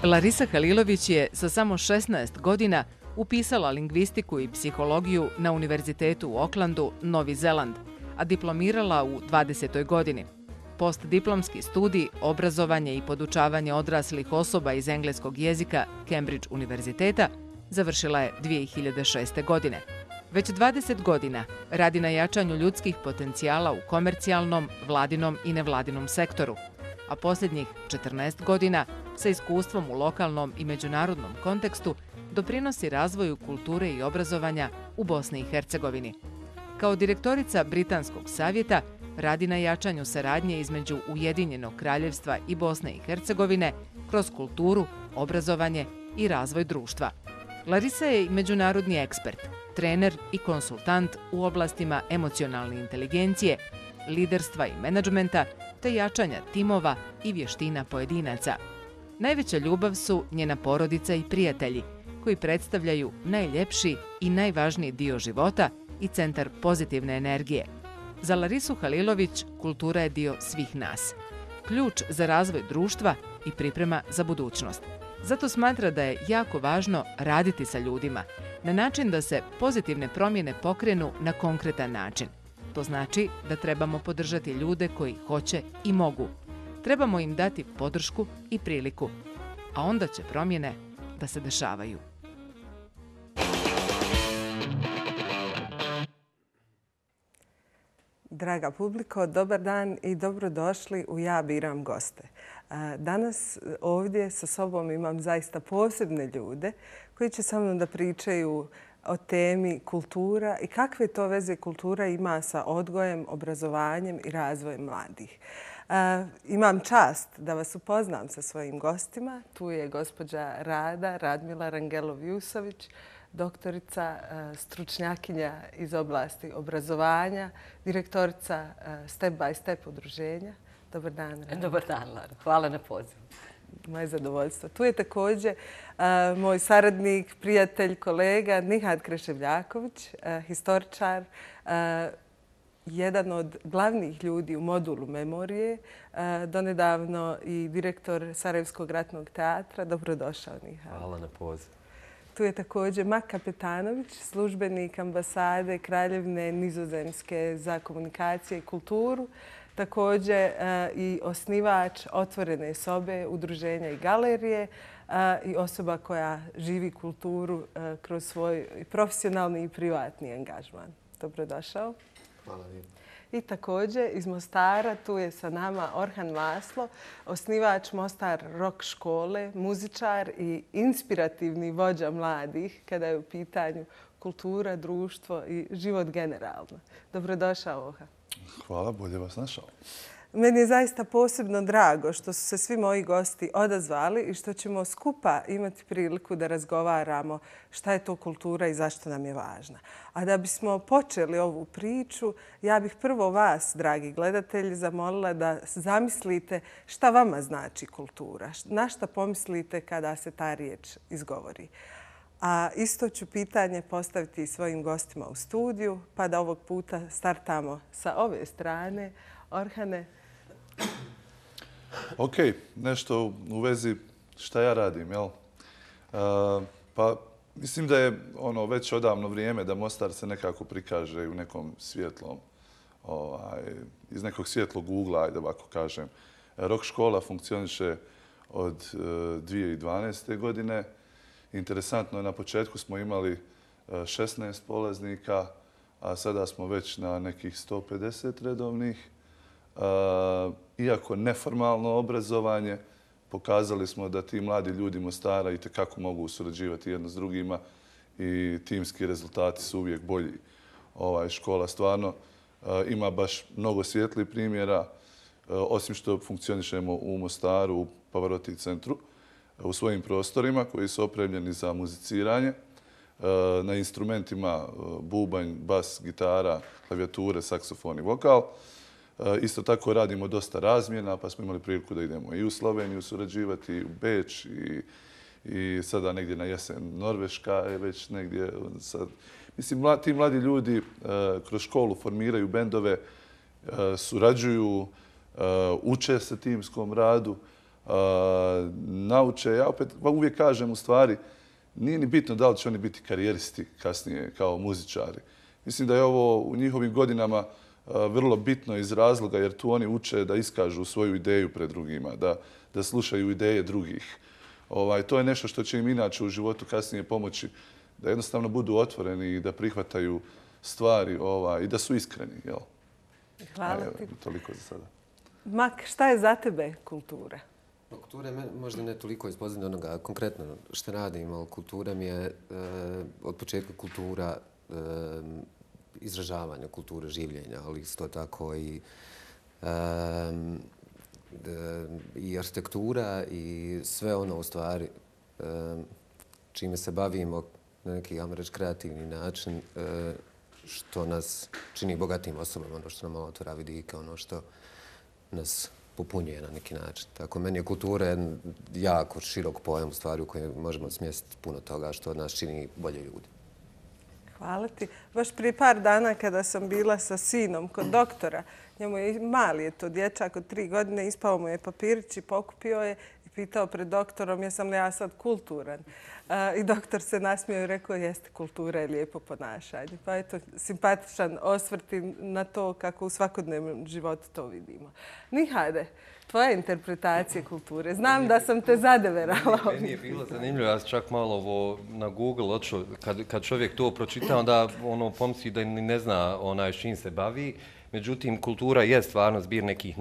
Larisa Halilović je sa samo 16 godina upisala lingvistiku i psihologiju na Univerzitetu u Aucklandu, Novi Zeland, a diplomirala u 20. godini. Postdiplomski studij, obrazovanje i podučavanje odraslih osoba iz engleskog jezika Cambridge univerziteta završila je 2006. godine. Već 20 godina radi na jačanju ljudskih potencijala u komercijalnom, vladinom i nevladinom sektoru, a posljednjih 14 godina sa iskustvom u lokalnom i međunarodnom kontekstu doprinosi razvoju kulture i obrazovanja u Bosni i Hercegovini. Kao direktorica Britanskog savjeta radi na jačanju saradnje između Ujedinjenog kraljevstva i Bosne i Hercegovine kroz kulturu, obrazovanje i razvoj društva. Larisa je i međunarodni ekspert, trener i konsultant u oblastima emocionalne inteligencije, liderstva i menadžmenta te jačanja timova i vještina pojedinaca. Najveća ljubav su njena porodica i prijatelji, koji predstavljaju najljepši i najvažniji dio života i centar pozitivne energije. Za Larisu Halilović kultura je dio svih nas, ključ za razvoj društva i priprema za budućnost. Zato smatra da je jako važno raditi sa ljudima na način da se pozitivne promjene pokrenu na konkretan način. To znači da trebamo podržati ljude koji hoće i mogu. Trebamo im dati podršku i priliku, a onda će promjene da se dešavaju. Draga publiko, dobar dan i dobrodošli u Ja biram goste. Danas ovdje sa sobom imam zaista posebne ljude koji će sa mnom da pričaju o temi kultura i kakve to veze kultura ima sa odgojem, obrazovanjem i razvojem mladih. Imam čast da vas upoznam sa svojim gostima. Tu je gospođa Radmila Rangelov-Jusović, doktorica, stručnjakinja iz oblasti obrazovanja, direktorica Step by Step udruženja. Dobar dan. Dobar dan, Lara. Hvala na pozivu. Moje zadovoljstvo. Tu je također moj saradnik, prijatelj, kolega Nihat Kreševljaković, historičar, jedan od glavnih ljudi u modulu memorije, donedavno i direktor Sarajevskog ratnog teatra. Dobrodošao, Nihat. Hvala na pozivu. Tu je također Mak Kapetanović, službenik ambasade Kraljevine Nizozemske za komunikacije i kulturu, također i osnivač Otvorene sobe, udruženja i galerije i osoba koja živi kulturu kroz svoj profesionalni i privatni angažman. Dobrodošao. Hvala vam. I također iz Mostara tu je sa nama Orhan Maslo, osnivač Mostar rock škole, muzičar i inspirativni vođa mladih kada je u pitanju kultura, društvo i život generalno. Dobrodošao, Orhan. Hvala, bolje vas našao. Meni je zaista posebno drago što su se svi moji gosti odazvali i što ćemo skupa imati priliku da razgovaramo šta je to kultura i zašto nam je važna. A da bismo počeli ovu priču, ja bih prvo vas, dragi gledatelji, zamolila da zamislite šta vama znači kultura. Na šta pomislite kada se ta riječ izgovori. A isto ću pitanje postaviti i svojim gostima u studiju, pa da ovog puta startamo sa ove strane. Orhane. Ok, nešto u vezi šta ja radim, jel? Pa mislim da je već odavno vrijeme da Mostar se nekako prikaže u nekom svjetlom, iz nekog svjetlog ugla, ajde ovako kažem. Rock škola funkcioniše od 2012. godine. Interesantno je, na početku smo imali 16 polaznika, a sada smo već na nekih 150 redovnih. Iako neformalno obrazovanje, pokazali smo da ti mladi ljudi Mostara i tekako mogu surađivati jedno s drugima i timski rezultati su uvijek bolji. Škola stvarno ima baš mnogo svijetlih primjera, osim što funkcionišemo u Mostaru, u Pavarotti centru, u svojim prostorima koji su opremljeni za muziciranje, na instrumentima bubanj, bas, gitara, klavijature, saksofon i vokal. Isto tako radimo dosta razmjena, pa smo imali priliku da idemo i u Sloveniju surađivati, u Beč i sada negdje na jesen Norveška je već negdje. Mislim, ti mladi ljudi kroz školu formiraju bendove, surađuju, uče se timskom radu, nauče. Ja opet uvijek kažem u stvari, nije ni bitno da li će oni biti karijeristi kasnije kao muzičari. Mislim da je ovo u njihovim godinama vrlo bitno iz razloga jer tu oni uče da iskažu svoju ideju pred drugima, da slušaju ideje drugih. To je nešto što će im inače u životu kasnije pomoći da jednostavno budu otvoreni i da prihvataju stvari i da su iskreni. Hvala ti. Toliko za sada. Mak, šta je za tebe kultura? Kultura je možda ne toliko iz pozadine onoga konkretno što radim, ali kultura mi je od početka kultura izražavanja, kulture življenja, ali isto tako i arhitektura i sve ono u stvari čime se bavimo na neki, ajmo reći, kreativni način što nas čini bogatim osobama, ono što nam otvara vidike, ono što nas popunjuje na neki način. Tako, meni je kultura jako širok pojam u stvari u kojem možemo smjestiti puno toga što od nas čini bolje ljudi. Hvala ti. Baš prije par dana kada sam bila sa sinom kod doktora, njemu je mali je to dječak od 3 godine, ispao mu je papirić i pokupio je i pitao pred doktorom jesam li ja sad kulturan. I doktor se nasmijao i rekao jeste, kultura je lijepo ponašanje. Pa eto, simpatičan osvrti na to kako u svakodnevnom životu to vidimo. Nihade, tvoja interpretacija kulture. Znam da sam te zadeverala. Meni je bilo zanimljivo, ja sam čak malo ovo na Google odšao, kad čovjek to pročita, onda pomisli da ne zna s čim se bavi. Međutim, kultura je stvarno zbir nekih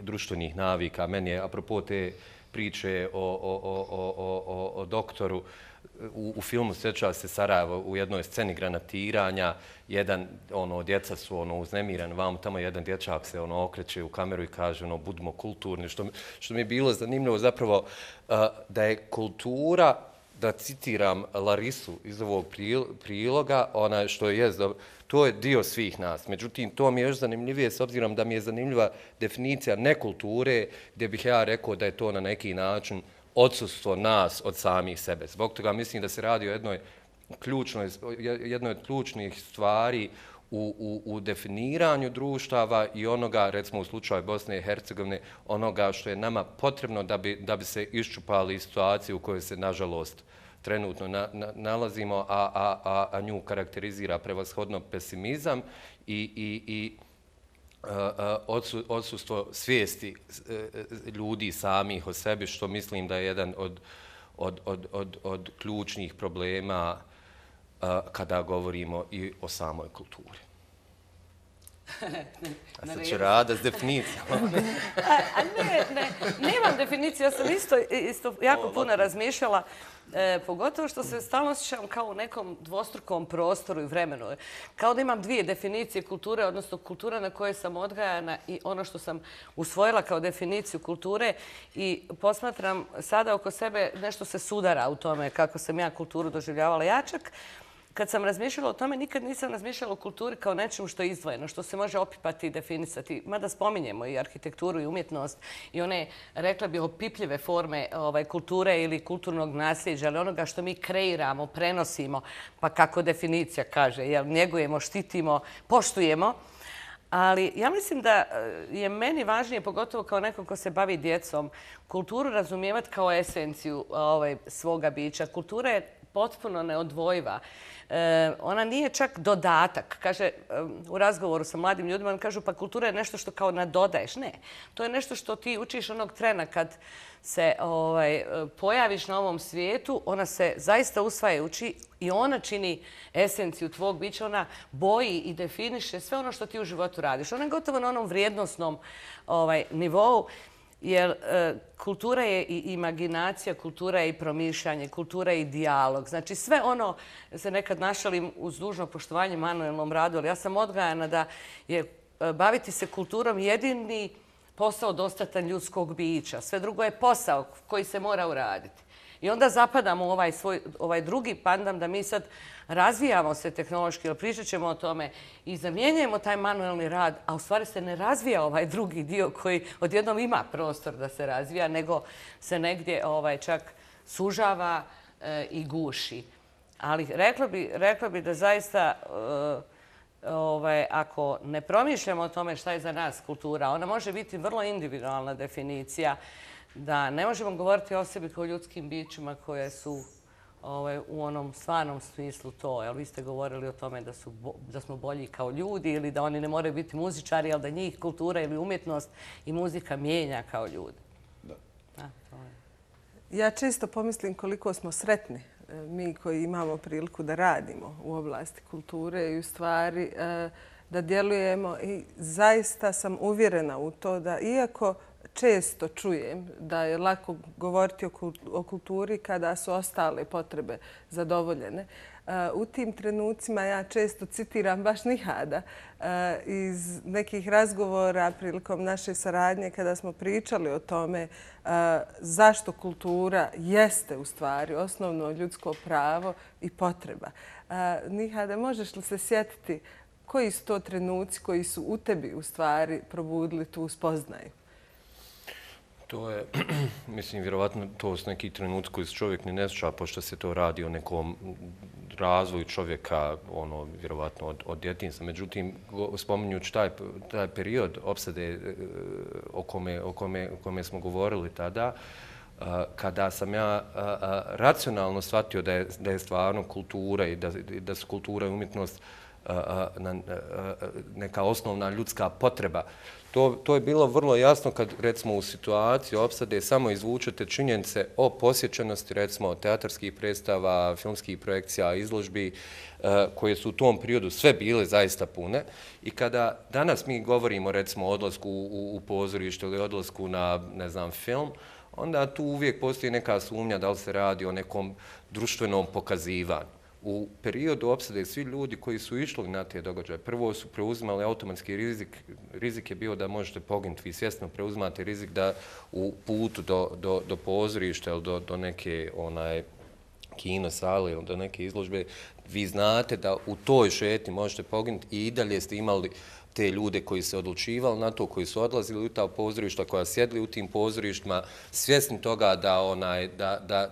društvenih navika. Meni je, apropo te priče o doktoru, u filmu Sjeća se Sarajevo u jednoj sceni granatiranja, djeca su uznemirani, vam tamo jedan dječak se okreće u kameru i kaže budimo kulturni, što mi je bilo zanimljivo zapravo da je kultura, da citiram Larisu iz ovog priloga, to je dio svih nas. Međutim, to mi je još zanimljivije s obzirom da mi je zanimljiva definicija nekulture, gdje bih ja rekao da je to na neki način odsustvo nas od samih sebe. Zbog toga mislim da se radi o jednoj od ključnih stvari u definiranju društava i onoga, recimo u slučaju Bosne i Hercegovine, onoga što je nama potrebno da bi se iščupali situacije u kojoj se, nažalost, trenutno nalazimo, a nju karakterizira prevashodno pesimizam i odsustvo svijesti ljudi samih o sebi, što mislim da je jedan od ključnih problema kada govorimo i o samoj kulturi. A sad će Rada s definicijama. Nemam definiciju, ja sam isto jako puno razmišljala, pogotovo što se stalno osjećam kao u nekom dvostrukom prostoru i vremenu. Kao da imam 2 definicije kulture, odnosno kultura na kojoj sam odgajana i ono što sam usvojila kao definiciju kulture i posmatram sada oko sebe nešto se sudara u tome kako sam ja kulturu doživljavala. Ja čak kad sam razmišljala o tome, nikad nisam razmišljala o kulturi kao nečemu što je izdvojeno, što se može opipati i definisati. Mada spominjemo i arhitekturu i umjetnost i one, rekla bih, opipljive forme kulture ili kulturnog nasljeđa, ali onoga što mi kreiramo, prenosimo, pa kako definicija kaže, njegujemo, štitimo, poštujemo. Ali ja mislim da je meni važnije, pogotovo kao nekom ko se bavi djecom, kulturu razumijevati kao esenciju svoga bića. Kultura je potpuno neodvojiva. Ona nije čak dodatak. Kaže, u razgovoru sa mladim ljudima, kažu pa kultura je nešto što kao nadodaješ. Ne, to je nešto što ti učiš onog trena kad se pojaviš na ovom svijetu, ona se zaista usvaja i uči i ona čini esenciju tvog bića, ona boji i definiše sve ono što ti u životu radiš. Ona je gotovo na onom vrijednosnom nivou. Jer kultura je i imaginacija, kultura je i promišljanje, kultura je i dijalog. Znači sve ono, se nekad našalim uz dužno poštovanje manuelnom radu, ali ja sam odgajana da je baviti se kulturom jedini posao dostatan ljudskog bića. Sve drugo je posao koji se mora uraditi. I onda zapadamo u ovaj drugi pandam da mi sad razvijamo se tehnološki, ali pričat ćemo o tome i zamjenjujemo taj manuelni rad, a u stvari se ne razvija ovaj drugi dio koji odjednom ima prostor da se razvija, nego se negdje čak sužava i guši. Ali rekla bi da zaista ako ne promišljamo o tome šta je za nas kultura, ona može biti vrlo individualna definicija. da ne možemo govoriti o sebi kao ljudskim bićima koje su u onom stvarnom smislu to. Jel, vi ste govorili o tome da smo bolji kao ljudi ili da oni ne moraju biti muzičari, ali da njih kultura ili umjetnost i muzika mijenja kao ljudi. Da. Ja često pomislim koliko smo sretni mi koji imamo priliku da radimo u oblasti kulture i u stvari da djelujemo i zaista sam uvjerena u to da iako često čujem da je lako govoriti o kulturi kada su ostale potrebe zadovoljene. U tim trenucima ja često citiram baš Nihada iz nekih razgovora prilikom naše saradnje kada smo pričali o tome zašto kultura jeste u stvari osnovno ljudsko pravo i potreba. Nihada, možeš li se sjetiti koji su to trenuci koji su u tebi u stvari probudili tu spoznaju? To je, mislim, vjerovatno to su neki trenuci koji se čovjek ne sjeća, pošto se to radi o nekom razvoju čovjeka, vjerovatno od djetinjstva. Međutim, spominjući taj period opsade o kome smo govorili tada, kada sam ja racionalno shvatio da je stvarno kultura i da su kultura i umjetnost neka osnovna ljudska potreba. To je bilo vrlo jasno kad, recimo, u situaciji opsade samo izvučete činjenice o posjećenosti, recimo, teatarskih predstava, filmskih projekcija, izložbi, koje su u tom periodu sve bile zaista pune. I kada danas mi govorimo, recimo, o odlasku u pozorište ili odlasku na, ne znam, film, onda tu uvijek postoji neka sumnja da li se radi o nekom društvenom pokazivanju. U periodu opsade svi ljudi koji su išli na te događaje, prvo su preuzimali automatski rizik. Rizik je bio da možete poginuti. Vi svjesno preuzimate rizik da u putu do pozorišta ili do neke kino sale ili do neke izložbe, vi znate da u toj šetnji možete poginuti i i dalje ste imali te ljude koji se odlučivali na to, koji su odlazili u ta pozorišta, koja sjedli u tim pozorištima, svjesni toga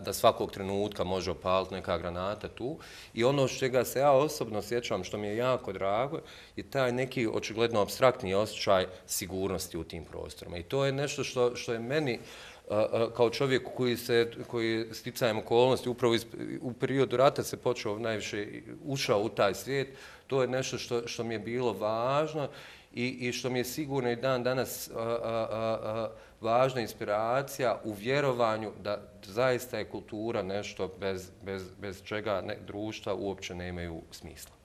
da svakog trenutka može opaliti neka granata tu. I ono čega se ja osobno sjećam, što mi je jako drago, je taj neki očigledno apstraktni osjećaj sigurnosti u tim prostorima. I to je nešto što je meni kao čovjek koji sticajem okolnosti upravo u periodu rata se počeo najviše ušao u taj svijet. To je nešto što mi je bilo važno i što mi je sigurno i dan danas važna inspiracija u vjerovanju da zaista je kultura nešto bez čega društva uopće nemaju smisla.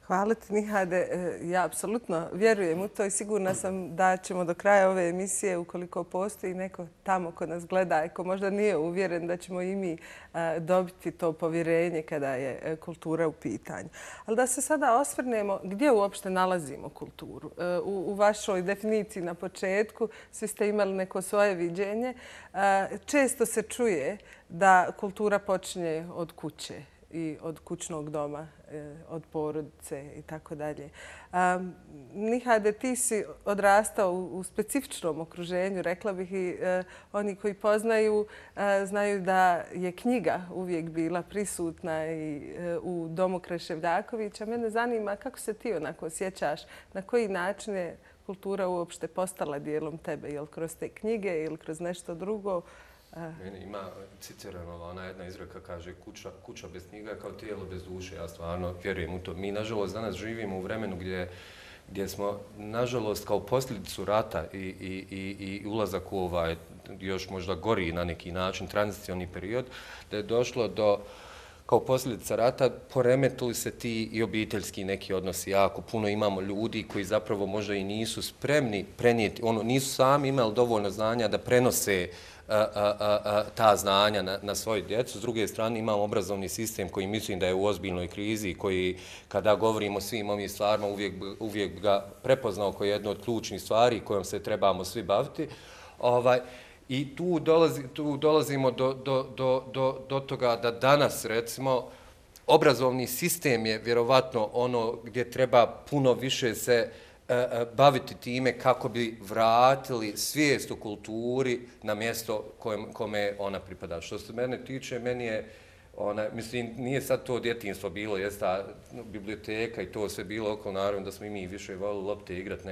Hvala ti, Nihade. Ja apsolutno vjerujem u to i sigurna sam da ćemo do kraja ove emisije, ukoliko postoji neko tamo ko nas gleda i ko možda nije uvjeren, da ćemo i mi dobiti to povjerenje kada je kultura u pitanju. Ali da se sada osvrnemo gdje uopšte nalazimo kulturu. U vašoj definiciji na početku svi ste imali neko svoje viđenje. Često se čuje da kultura počinje od kuće i od kućnog doma, od porodice i tako dalje. Nihade, ti si odrastao u specifičnom okruženju, rekla bih, i oni koji poznaju znaju da je knjiga uvijek bila prisutna i u domu Kreševljakovića. Mene zanima kako se ti onako osjećaš, na koji način je kultura uopšte postala dijelom tebe, je li kroz te knjige ili kroz nešto drugo? Meni ima citirano, ona jedna izreka kaže kuća bez knjiga kao tijelo bez duše. Ja stvarno vjerujem u to. Mi, nažalost, danas živimo u vremenu gdje smo, nažalost, kao posljedicu rata i ulazak u još možda gori na neki način tranzicioni period, da je došlo do, kao posljedica rata, poremetili se ti i obiteljski neki odnosi jako. Puno imamo ljudi koji zapravo možda i nisu spremni prenijeti, nisu sami imali dovoljno znanja da prenose ta znanja na svoju djecu. S druge strane, imamo obrazovni sistem koji mislim da je u ozbiljnoj krizi, koji, kada govorimo o svim ovim stvarima, uvijek ga prepoznao kao jednu od ključnih stvari kojom se trebamo svi baviti. I tu dolazimo do toga da danas, recimo, obrazovni sistem je vjerovatno ono gdje treba puno više se baviti time kako bi vratili svijest o kulturi na mjesto kome ona pripada. Što se mene tiče, meni je Mislim, nije sad to djetinjstvo bilo, jest ta biblioteka i to sve bilo oko, naravno da smo i mi više volili lopte igrati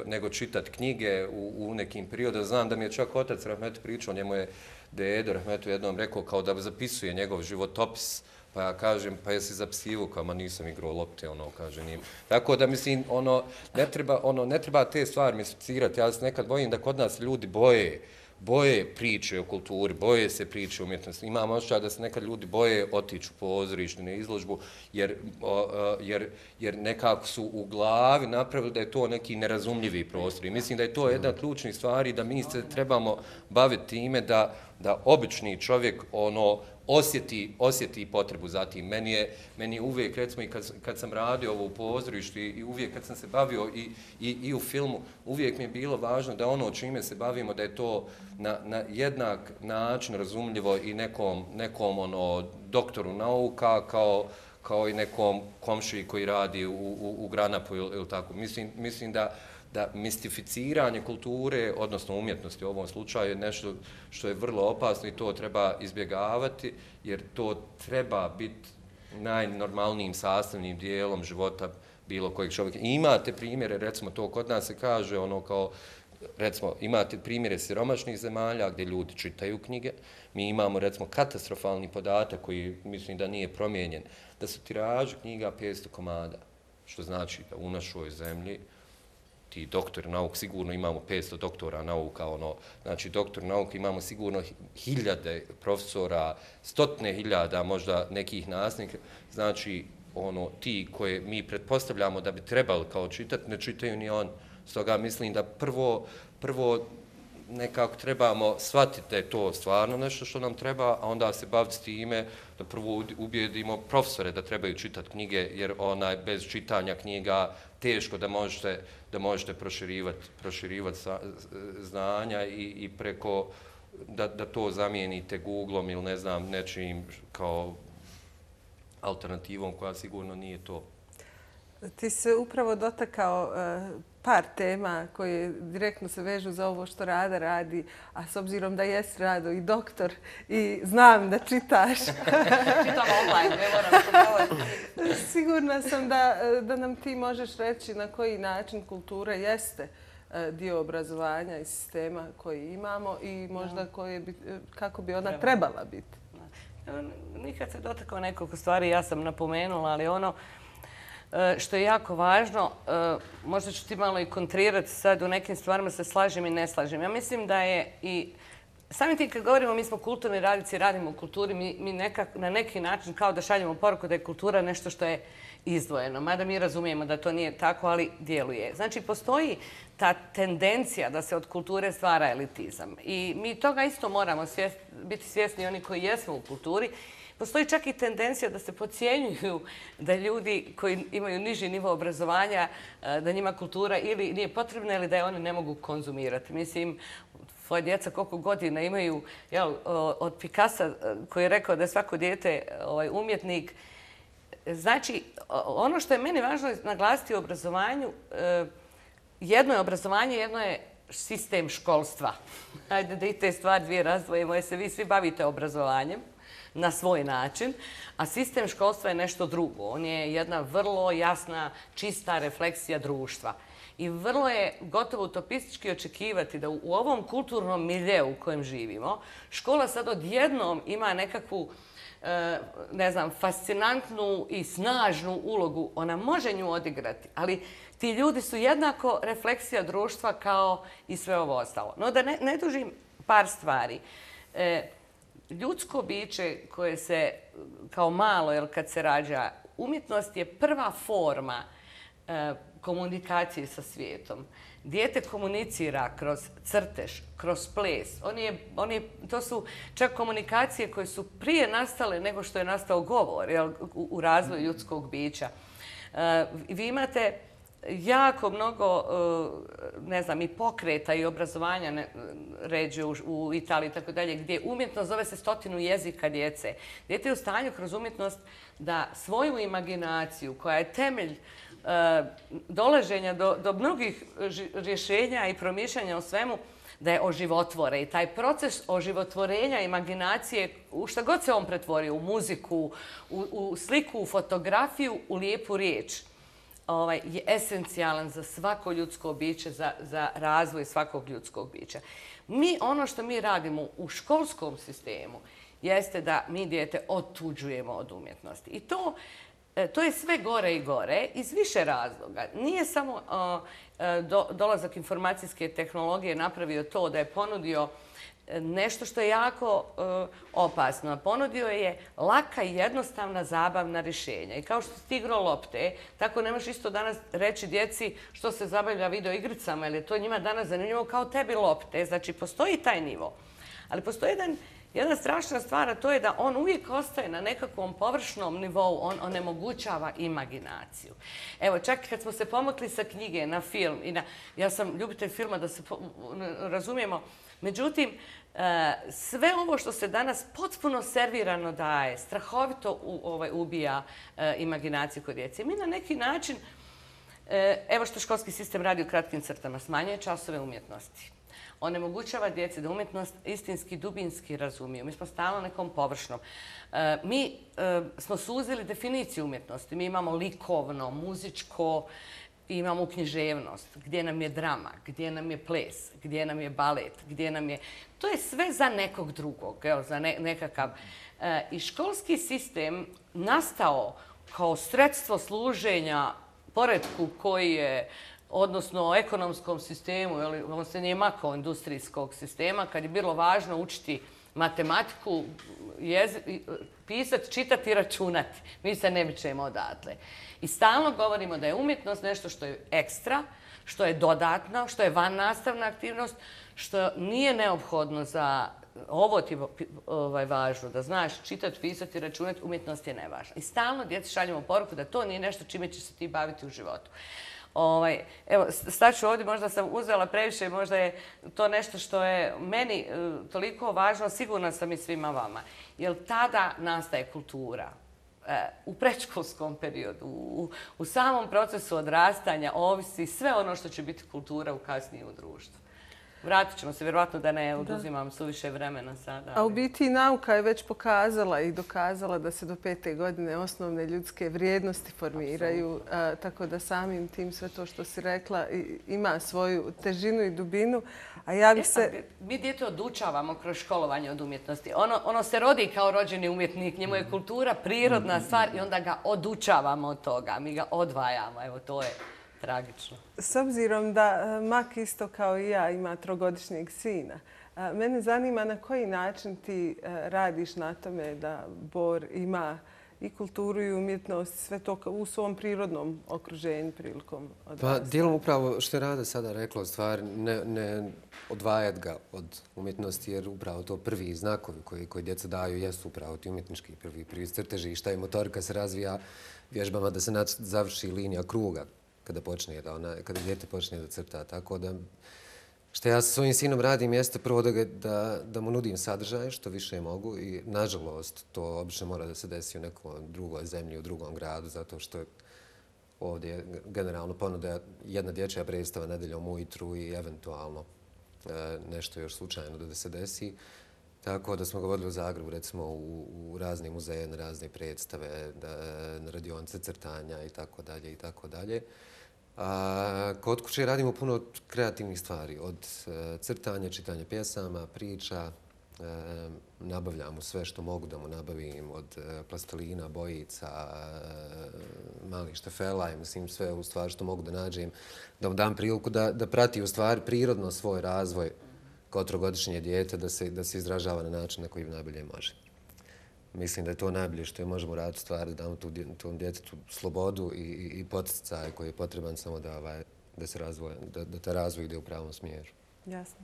nego čitati knjige u nekim periodima. Znam da mi je čak otac Rahmet pričao, njemu je dedo Rahmetu jednom rekao kao da zapisuje njegov životopis, pa ja kažem, pa jesi zapisivo, kao ma nisam igrao lopte, kaže njim. Tako da, mislim, ne treba te stvari mistificirati. Ja se nekad bojim da kod nas ljudi boje priče o kulturi, boje se priče o umjetnosti. Imam osjećaj da se nekad ljudi boje otići u pozorište, na izložbu, jer nekako su u glavi napravili da je to neki nerazumljivi prostor. I mislim da je to jedna od ključnih stvari, da mi se trebamo baviti time da obični čovjek osjeti potrebu za tim. Meni je uvijek, recimo i kad sam radio ovo u pozorištu i uvijek kad sam se bavio i u filmu, uvijek mi je bilo važno da ono čime se bavimo, da je to na jednak način razumljivo i nekom doktoru nauka kao i nekom komšiji koji radi u Granapu ili tako. Mislim da mistificiranje kulture, odnosno umjetnosti u ovom slučaju, je nešto što je vrlo opasno i to treba izbjegavati, jer to treba biti najnormalnijim sastavnim dijelom života bilo kojeg čovjeka. I imate primjere, recimo to kod nas se kaže, recimo imate primjere siromašnih zemalja gdje ljudi čitaju knjige. Mi imamo, recimo, katastrofalni podatak koji mislim da nije promijenjen, da su tiraže knjiga 500 komada, što znači da u našoj zemlji ti doktori nauka, sigurno imamo 500 doktora nauka, znači doktor nauka imamo sigurno 1000 profesora, 100.000 možda nekih nastavnika, znači ti koje mi pretpostavljamo da bi trebali kao čitati, ne čitaju ni on. Stoga mislim da prvo nekako trebamo shvatiti da je to stvarno nešto što nam treba, a onda se baviti s time da prvo ubijedimo profesore da trebaju čitati knjige, jer bez čitanja knjiga teško da možete proširivati znanja i preko da to zamijenite Googlom ili ne znam nečim kao alternativom koja sigurno nije to. Ti se upravo dotakao par tema koje direktno se vežu za ovo što Rada radi, a s obzirom da jesi Rado i doktor i znam da čitaš. Čitam online, ne moram. Sigurna sam da nam ti možeš reći na koji način kultura jeste dio obrazovanja i sistema koji imamo i možda kako bi ona trebala biti. Nikad se dotakao nekoliko stvari, ja sam napomenula, ali što je jako važno, možda ću ti malo i kontrirati sad, u nekim stvarima se slažem i ne slažem. Ja mislim da je i samim tim kad govorimo mi smo kulturni radnici, radimo u kulturi, mi na neki način kao da šaljemo poruku da je kultura nešto što je izdvojeno. Mada mi razumijemo da to nije tako, ali djeluje. Znači, postoji ta tendencija da se od kulture stvara elitizam. I mi toga isto moramo biti svjesni, oni koji jesmo u kulturi. Postoji čak i tendencija da se podcjenjuju da ljudi koji imaju niži nivo obrazovanja, da njima kultura ili nije potrebna ili da je oni ne mogu konzumirati. Mislim, tvoje djeca koliko godina imaju od Picassa koji je rekao da je svako dijete umjetnik. Znači, ono što je meni važno naglasiti u obrazovanju, jedno je obrazovanje, jedno je sistem školstva. Hajde da i te stvari dvije razdvojimo, jer se vi svi bavite obrazovanjem na svoj način, a sistem školstva je nešto drugo. On je jedna vrlo jasna, čista refleksija društva. I vrlo je gotovo utopistički očekivati da u ovom kulturnom miljeu u kojem živimo, škola sad odjednom ima nekakvu, ne znam, fascinantnu i snažnu ulogu. Ona može nju odigrati, ali ti ljudi su jednako refleksija društva kao i sve ovo ostalo. No da ne dužim par stvari. Ljudsko biće koje se kao malo, kad se rađa, umjetnost je prva forma komunikacije sa svijetom. Dijete komunicira kroz crtež, kroz ples. To su čak komunikacije koje su prije nastale nego što je nastao govor u razvoju ljudskog bića. Vi imate jako mnogo, ne znam, i pokreta i obrazovanja ređe u Italiji i tako dalje, gdje umjetnost zove se 100 jezika djece. Dijete je u stanju kroz umjetnost da svoju imaginaciju, koja je temelj dolaženja do mnogih rješenja i promišljanja o svemu, da je oživotvore. I taj proces oživotvorenja imaginacije, u šta god se on pretvorio, u muziku, u sliku, u fotografiju, u lijepu riječ, je esencijalan za svako ljudsko biće, za razvoj svakog ljudskog bića. Ono što mi radimo u školskom sistemu jeste da mi dijete otuđujemo od umjetnosti. I to je sve gore i gore iz više razloga. Nije samo dolazak informacijske tehnologije napravio to da je ponudio nešto što je jako opasno. Ponudio je laka i jednostavna zabavna rješenja. I kao što si igrao lopte, tako nemaš isto danas reći djeci što se zabavlja video igricama, jer je to njima danas zanimljivo kao tebi lopte. Znači, postoji taj nivo. Ali postoji jedna strašna stvar, a to je da on uvijek ostaje na nekakvom površnom nivou, on onemogućava imaginaciju. Evo, čak kad smo se pomakli sa knjige na film, ja sam ljubitelj filma, da se razumijemo, međutim, sve ovo što se danas potpuno servirano daje, strahovito ubija imaginaciju kod djece. Mi na neki način, evo što školski sistem radi u kratkim crtama, smanjuje časove umjetnosti. Onemogućava djeci da umjetnost istinski, dubinski razumiju. Mi smo stalno nekom površnom. Mi smo suzili definiciju umjetnosti. Mi imamo likovno, muzičko, imamo književnost, gdje nam je drama, gdje nam je ples, gdje nam je balet, gdje nam je... To je sve za nekog drugog, za nekakav... I školski sistem nastao kao sredstvo služenja poretku koji je, odnosno ekonomskom sistemu, on se nije makao industrijskog sistema, kad je bilo važno učiti matematiku, pisati, čitati i računati. Mi se ne mičemo odatle. I stalno govorimo da je umjetnost nešto što je ekstra, što je dodatno, što je van nastavna aktivnost, što nije neophodno za ovo ti važno, da znaš čitati, pisati, računati, umjetnost je nevažna. I stalno djeci šaljemo poruku da to nije nešto čime će se ti baviti u životu. Evo, staću ovdje, možda sam uzela previše, možda je to nešto što je meni toliko važno, sigurna sam i svima vama. Jer tada nastaje kultura. U predškolskom periodu, u samom procesu odrastanja ovisi sve ono što će biti kultura u kasnije u društvu. Vratit ćemo se, vjerovatno da ne oduzimam suviše vremena sada. A u biti nauka je već pokazala i dokazala da se do 5. godine osnovne ljudske vrijednosti formiraju, tako da samim tim sve to što si rekla ima svoju težinu i dubinu. A ja bih se... Mi djete odučavamo kroz školovanje od umjetnosti. Ono se rodi kao rođeni umjetnik, njemu je kultura prirodna stvar i onda ga odučavamo od toga. Mi ga odvajamo, evo to je... tragično. S obzirom da Mak isto kao i ja ima 3-godišnjeg sina, mene zanima na koji način ti radiš na tome da Bor ima i kulturu i umjetnost, sve to u svom prirodnom okruženju prilikom odrastanja. Pa, dijelom upravo što je Rada sada rekla, u stvari ne odvajati ga od umjetnosti, jer upravo to prvi znakovi koji djeca daju jesu upravo ti umjetnički prvi crteži i šta je motorika se razvija vježbama da se završi linija kruga kada dijete počne da crta. Tako da, što ja sa svojim sinom radim jeste prvo da mu nudim sadržaj što više mogu i nažalost to obično mora da se desi u nekoj drugoj zemlji, u drugom gradu, zato što je ovdje generalno ponuda jedna dječja predstava nedeljom ujutru i eventualno nešto još slučajno da se desi. Tako da smo ga vodili u Zagrebu, recimo u razne muzeje, na razne predstave, na radionice crtanja i tako dalje i tako dalje. Kod kuće radimo puno kreativnih stvari, od crtanja, čitanja pjesama, priča, nabavljamo sve što mogu da mu nabavim, od plastelina, bojica, malih štefela i mislim sve u stvari što mogu da nađem, da mu dam priliku da prati u stvari prirodno svoj razvoj kao 3-godišnje dijete, da se izražava na način na koji najbolje može. Mislim da je to najbolje što je možemo raditi stvari, da damo tom djetetu slobodu i poticaj koji je potreban samo da se razvoja, da ta razvoj ide u pravom smjeru. Jasno.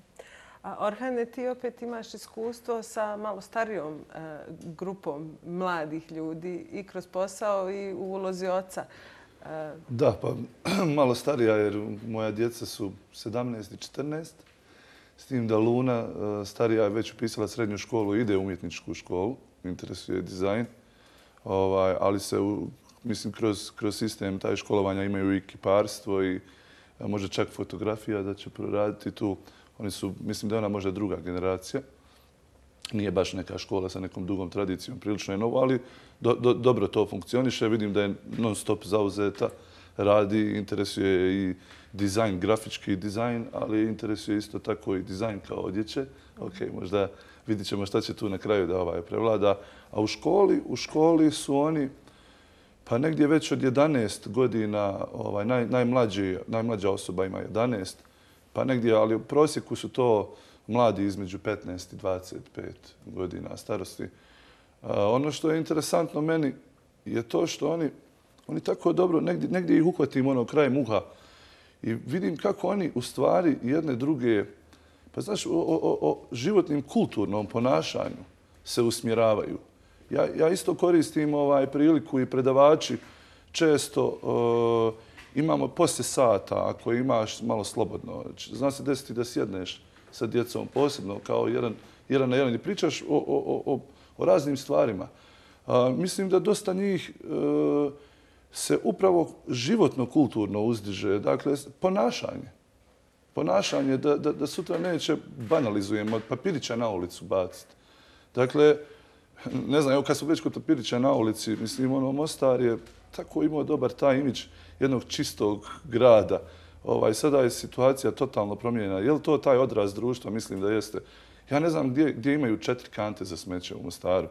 Orhane, ti opet imaš iskustvo sa malo starijom grupom mladih ljudi i kroz posao i u ulozi oca. Da, pa malo starija jer moja djeca su 17 i 14. S tim da Luna, starija, je već upisala srednju školu, ide u umjetničku školu, interesuje dizajn. Ali se, mislim, kroz sistem taj školovanja imaju i kiparstvo i možda čak fotografija da će proraditi tu. Oni su, mislim da je ona možda druga generacija. Nije baš neka škola sa nekom dugom tradicijom, prilično je novo, ali dobro to funkcioniše. Vidim da je non stop zauzeta, radi, interesuje i dizajn, grafički dizajn, ali interesuje isto tako i dizajn kao odjeće. Ok, možda vidit ćemo šta će tu na kraju da prevlada. A u školi su oni, pa negdje već od 11 godina, najmlađa osoba ima 11, pa negdje, ali u prosjeku su to mladi između 15 i 25 godina starosti. Ono što je interesantno meni je to što oni tako dobro, negdje ih uhvatim krajem uha i vidim kako oni u stvari jedne druge, pa znaš, o životnim kulturnom ponašanju se usmjeravaju. Ja isto koristim priliku i predavači često imamo poslije sata, ako imaš malo slobodno. Zna se desiti da sjedneš sa djecom posebno kao jedan na jedan i pričaš o raznim stvarima. Mislim da dosta njih se upravo životno kulturno uzdiže. Dakle, ponašanje da sutra neće, banalizujemo, od papirića na ulicu baciti. Dakle, ne znam, evo kad smo već kod papirića na ulici, mislim, Mostar je tako imao dobar taj imidž jednog čistog grada. Sada je situacija totalno promijenjena. Je li to taj odraz društva? Mislim da jeste. Ja ne znam gdje imaju 4 kante za smeće u Mostaru.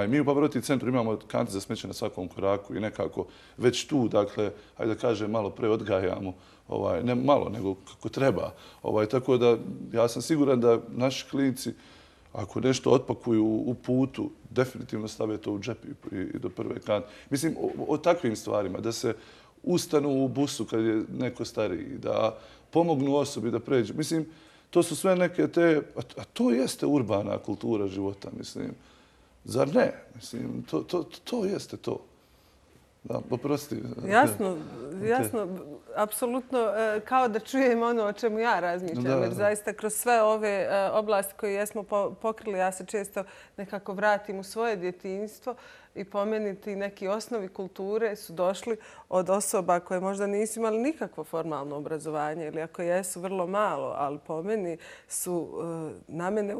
Mi u Pavaroti centru imamo kante za smeće na svakom koraku i nekako već tu, dakle, hajde da kažem, malo preodgajamo. Ne malo, nego kako treba. Tako da ja sam siguran da naši klinici, ako nešto otpakuju u putu, definitivno stave to u džep i do prve kante. Mislim, o takvim stvarima, da se ustanu u busu kad je neko stariji, da pomognu osobi da pređe. Mislim, to su sve neke te... A to jeste urbana kultura života, mislim. Zar ne? Mislim, to jeste to. Da, oprosti. Jasno. Apsolutno, kao da čujem ono o čemu ja razmišljam. Jer zaista kroz sve ove oblasti koje jesmo pokrili, ja se često nekako vratim u svoje djetinjstvo i pomeniti neki osnovi kulture su došli od osoba koje možda nisu imali nikakvo formalno obrazovanje ili ako jesu vrlo malo, ali po meni su na mene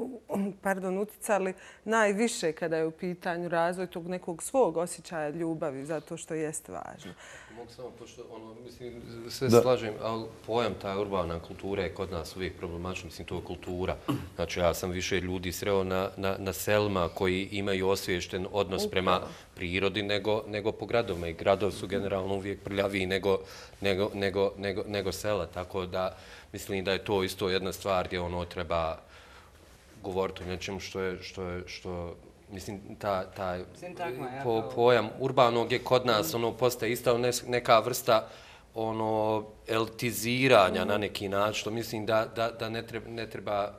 uticali najviše kada je u pitanju razvoj tog nekog svog osjećaja ljubavi, zato što jeste važno. Mogu samo, pošto mislim, sve slažem, ali pojam ta urbana kultura je kod nas uvijek problematična, mislim, to je kultura. Znači, ja sam više ljudi sreo na selima koji imaju osviješten odnos prema prirodi nego po gradovima. I gradovi su generalno uvijek prljaviji nego sela, tako da mislim da je to isto jedna stvar gdje treba govoriti o nečemu što mislim, taj pojam urbanog je kod nas postaje isto neka vrsta elitiziranja na neki način, što mislim da ne treba.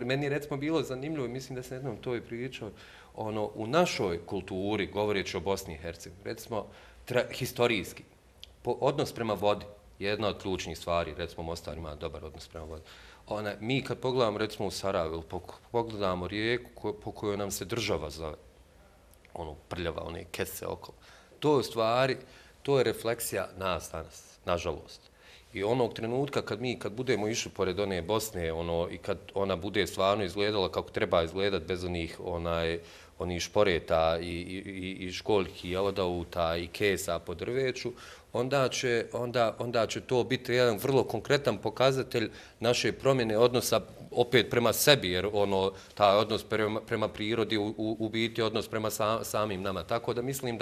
Meni je recimo bilo zanimljivo, mislim da sam jednom to i pričao, u našoj kulturi, govoreći o Bosni i Hercegovini, recimo historijski, odnos prema vodi je jedna od ključnih stvari, recimo Mostar ima dobar odnos prema vodi. Mi kad pogledamo recimo u Sarajevu, pogledamo rijeku po kojoj nam se država zove, prljava, one kese okolo, to je u stvari, to je refleksija nas danas, nažalost. I onog trenutka kad budemo išli pored one Bosne i kad ona bude stvarno izgledala kako treba izgledat bez onih šporeta i školjki, jelodauta i kesa po drveću, onda će to biti jedan vrlo konkretan pokazatelj naše promjene odnosa opet prema sebi, jer taj odnos prema prirodi u biti odnos prema samim nama. Tako da mislim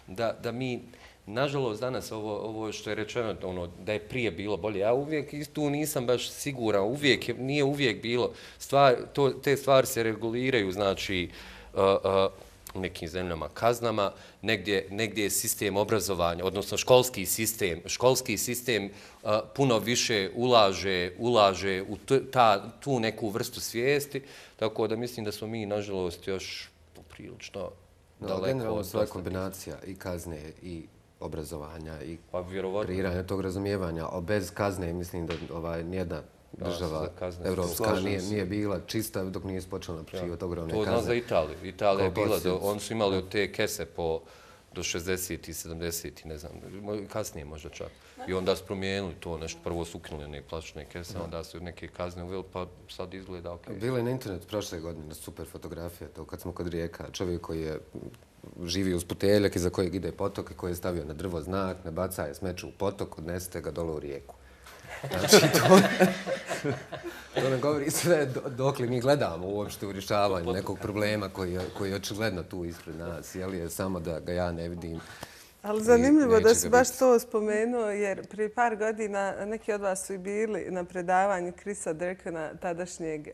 da mi, nažalost, danas ovo što je rečeno, da je prije bilo bolje. Ja uvijek tu nisam baš siguran, nije uvijek bilo. Te stvari se reguliraju, znači, u nekim zemljama kaznama, negdje je sistem obrazovanja, odnosno školski sistem puno više ulaže u tu neku vrstu svijesti, tako da mislim da smo mi, nažalost, još poprilično daleko. Generalno, svoja kombinacija i kazne i obrazovanja i kreiranja tog razumijevanja. Bez kazne mislim da nijedna država evropska nije bila čista dok nije počela naplaćivati ogromne kazne. To znam za Italiju. Italija je bila, oni su imali od te kese do 60 i 70 i ne znam, kasnije možda čak. I onda su promijenili to nešto, prvo su ukinuli neke plastične kese, onda su neke kazne uveli, pa sad izgleda ok. Bilo je na internetu prošle godine super fotografija, to kad smo kod Rijeka, čovjek koji je živi uz puteljak iza kojeg ide potok i koji je stavio na drvo znak, ne bacaje smeće u potok, odnesete ga dole u rijeku. Znači, to ne govori sve dokle mi gledamo uopšte u rješavanju nekog problema koji je očigledno tu ispred nas, je samo da ga ja ne vidim. Ali zanimljivo da si baš to spomenuo, jer prije par godina neki od vas su i bili na predavanju Chrisa Durkana, tadašnjeg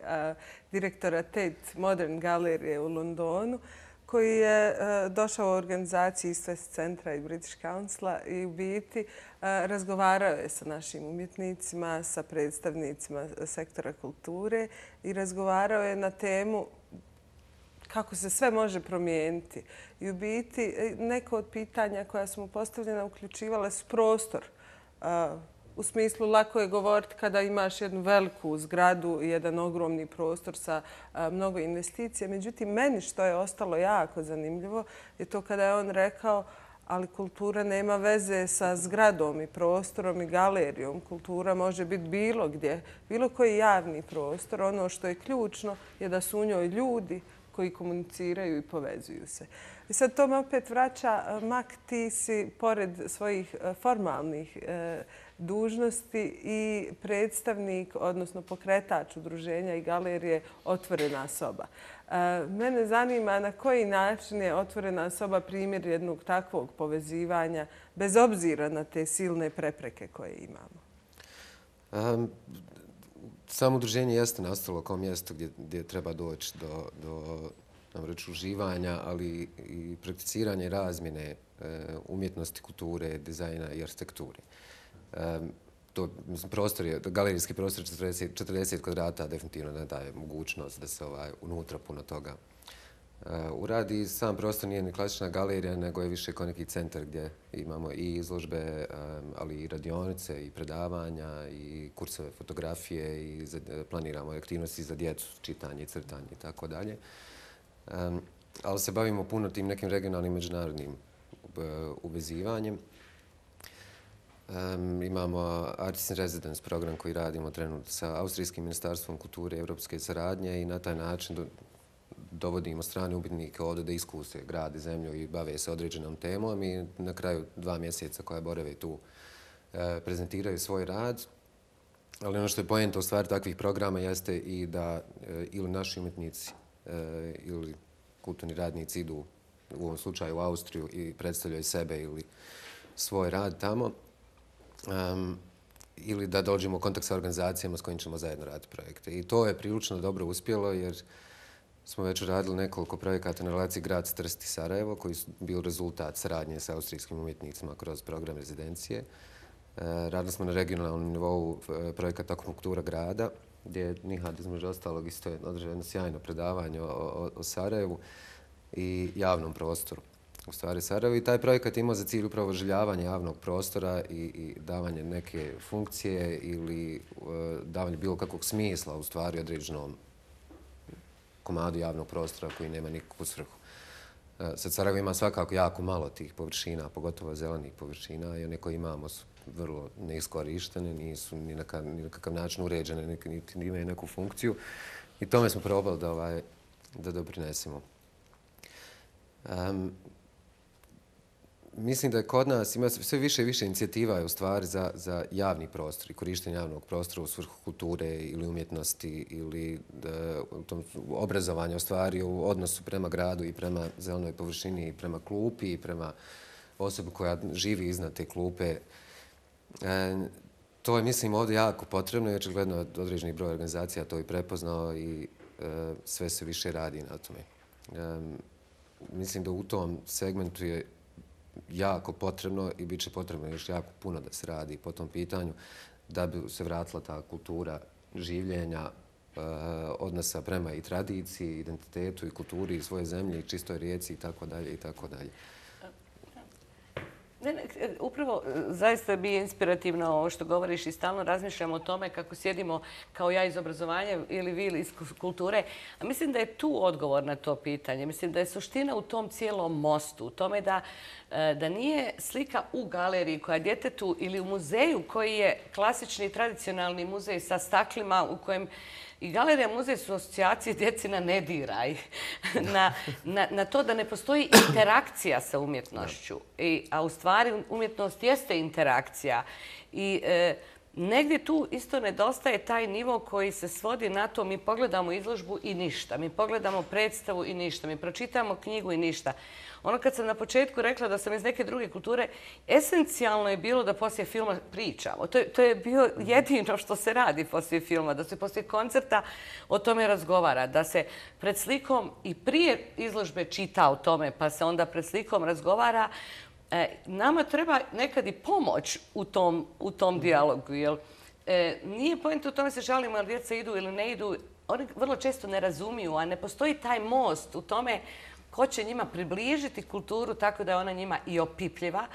direktora Tate Modern Galerije u Londonu, koji je došao u organizaciji East West Centra i British Councila i u biti razgovarao je sa našim umjetnicima, sa predstavnicima sektora kulture i razgovarao je na temu kako se sve može promijeniti. I u biti neko od pitanja koja su mu postavljena uključivala su prostor. U smislu, lako je govoriti kada imaš jednu veliku zgradu i jedan ogromni prostor sa mnogo investicija. Međutim, meni što je ostalo jako zanimljivo je to kada je on rekao ali kultura nema veze sa zgradom i prostorom i galerijom. Kultura može biti bilo gdje, bilo koji javni prostor. Ono što je ključno je da su u njoj ljudi koji komuniciraju i povezuju se. I sad to me opet vraća, Mak, ti si pored svojih formalnih dužnosti i predstavnik, odnosno pokretač udruženja i galerije Otvorena soba. Mene zanima na koji način je Otvorena soba primjer jednog takvog povezivanja, bez obzira na te silne prepreke koje imamo. Samo udruženje jeste nastalo kao mjesto gdje treba doći do uživanja, ali i prakticiranja i razmjene umjetnosti, kulture, dizajna i arhitekture. Galerijski prostor 40 kvadrata definitivno ne daje mogućnost da se unutra puno toga uradi. Sam prostor nije ni klasična galerija, nego je više kao neki centar gdje imamo i izložbe, ali i radionice, i predavanja, i kursove fotografije, i planiramo aktivnosti za djecu, čitanje i crtanje i tako dalje. Ali se bavimo puno tim nekim regionalnim međunarodnim uvezivanjem. Imamo Artists in Residence program koji radimo trenutno sa Austrijskim ministarstvom kulture i evropske saradnje i na taj način dovodimo strane umjetnike ovdje da iskuse grad i zemlju i bave se određenom temom i na kraju 2 mjeseca koja borave tu prezentiraju svoj rad. Ali ono što je poenta u stvari takvih programa jeste i da ili naši umjetnici ili kulturni radnici idu u ovom slučaju u Austriju i predstavljaju sebe ili svoj rad tamo, ili da dođemo u kontakt sa organizacijama s kojim ćemo zajedno raditi projekte. I to je prilično dobro uspjelo jer smo već radili nekoliko projekata na relaciji grad Trst i Sarajevo koji su bili rezultat saradnje sa austrijskim umjetnicima kroz program rezidencije. Radili smo na regionalnom nivou projekat Akupunktura grada gdje Nihad između ostalog isto je održao jedno sjajno predavanje o Sarajevu i javnom prostoru u stvari Sarajevu. I taj projekat imao za cilj upravo oživljavanje javnog prostora i davanje neke funkcije ili davanje bilo kakvog smisla u stvari određenom komadu javnog prostora koji nema nikakvu svrhu. Sad Sarajevo ima svakako jako malo tih površina, pogotovo zelenih površina i one koje imamo su vrlo neiskorištene, nisu ni na kakav način uređene, niti imaju neku funkciju. I tome smo probali da doprinesemo. Mislim da je kod nas ima sve više i više inicijativa u stvari za javni prostor i korištenje javnog prostora u svrhu kulture ili umjetnosti ili obrazovanja u stvari u odnosu prema gradu i prema zelenoj površini i prema klupi i prema osobi koja živi iznad te klupe. To je, mislim, ovdje jako potrebno i očigledno određeni broj organizacija to i prepoznao i sve se više radi na tome. Mislim da u tom segmentu je jako potrebno i bit će potrebno još jako puno da se radi po tom pitanju da bi se vratila ta kultura življenja, odnosa prema i tradiciji, identitetu i kulturi i svoje zemlje i čistoj rijeci i tako dalje i tako dalje. Upravo zaista mi je inspirativno ovo što govoriš i stalno razmišljamo o tome kako sjedimo kao ja iz obrazovanja ili vi iz kulture. A mislim da je tu odgovor na to pitanje. Mislim da je suština u tom cijelom mostu, u tome da nije slika u galeriji koja djetetu ili u muzeju koji je klasični tradicionalni muzej sa staklima u kojem i galerija muzej su asocijacije djeci na ne diraj, na to da ne postoji interakcija sa umjetnošću. A u stvari umjetnost jeste interakcija. I negdje tu isto nedostaje taj nivo koji se svodi na to mi pogledamo izložbu i ništa, mi pogledamo predstavu i ništa, mi pročitamo knjigu i ništa. Ono kad sam na početku rekla da sam iz neke druge kulture, esencijalno je bilo da poslije filma pričamo. To je bio jedino što se radi poslije filma, da se poslije koncerta o tome razgovara, da se pred slikom i prije izložbe čita o tome, pa se onda pred slikom razgovara. Nama treba nekad i pomoć u tom dijalogu. Nije point u tome se žalimo jer djeca idu ili ne idu. Oni vrlo često ne razumiju, a ne postoji taj most u tome ko će njima približiti kulturu tako da je ona njima i opipljiva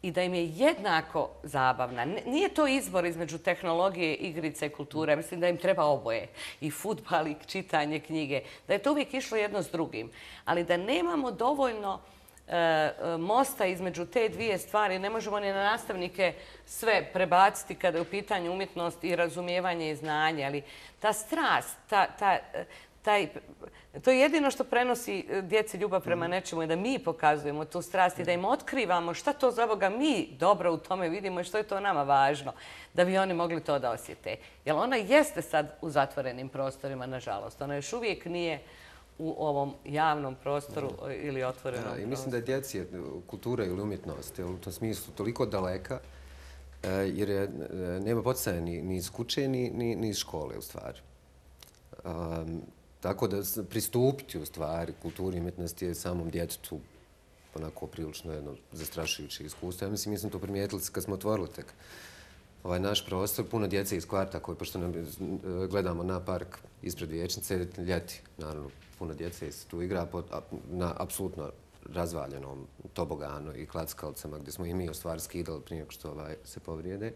i da im je jednako zabavna. Nije to izbor između tehnologije, igrice i kulture. Mislim da im treba oboje. I fudbal i čitanje knjige. Da je to uvijek išlo jedno s drugim. Ali da nemamo dovoljno mosta između te dvije stvari. Ne možemo ni na nastavnike sve prebaciti kada je u pitanju umjetnost i razumijevanje i znanje. Ali ta strast, to je jedino što prenosi djeci ljubav prema nečemu i da mi pokazujemo tu strast i da im otkrivamo šta to za Boga mi dobro u tome vidimo i što je to nama važno da bi oni mogli to da osjete. Jer ona jeste sad u zatvorenim prostorima, nažalost. Ona još uvijek nije u ovom javnom prostoru ili otvorenom prostoru. I mislim da je djeci kultura ili umjetnost u tom smislu toliko daleka jer nema poticaja ni iz kuće ni iz škole u stvari. Tako da pristupiti u stvari kulturi i umjetnosti je samom djetetu onako prilično jedno zastrašujuće iskustvo. Ja mislim, mi smo to primijetili kad smo otvorili tek ovaj naš prostor. Puno djece iz kvarta koji, pošto gledamo na park ispred vijećnice, ljeti, naravno, puno djece se tu igra na apsolutno razvaljenom toboganu i klackalcama gdje smo i mi u stvari skidali prije što se povrijede.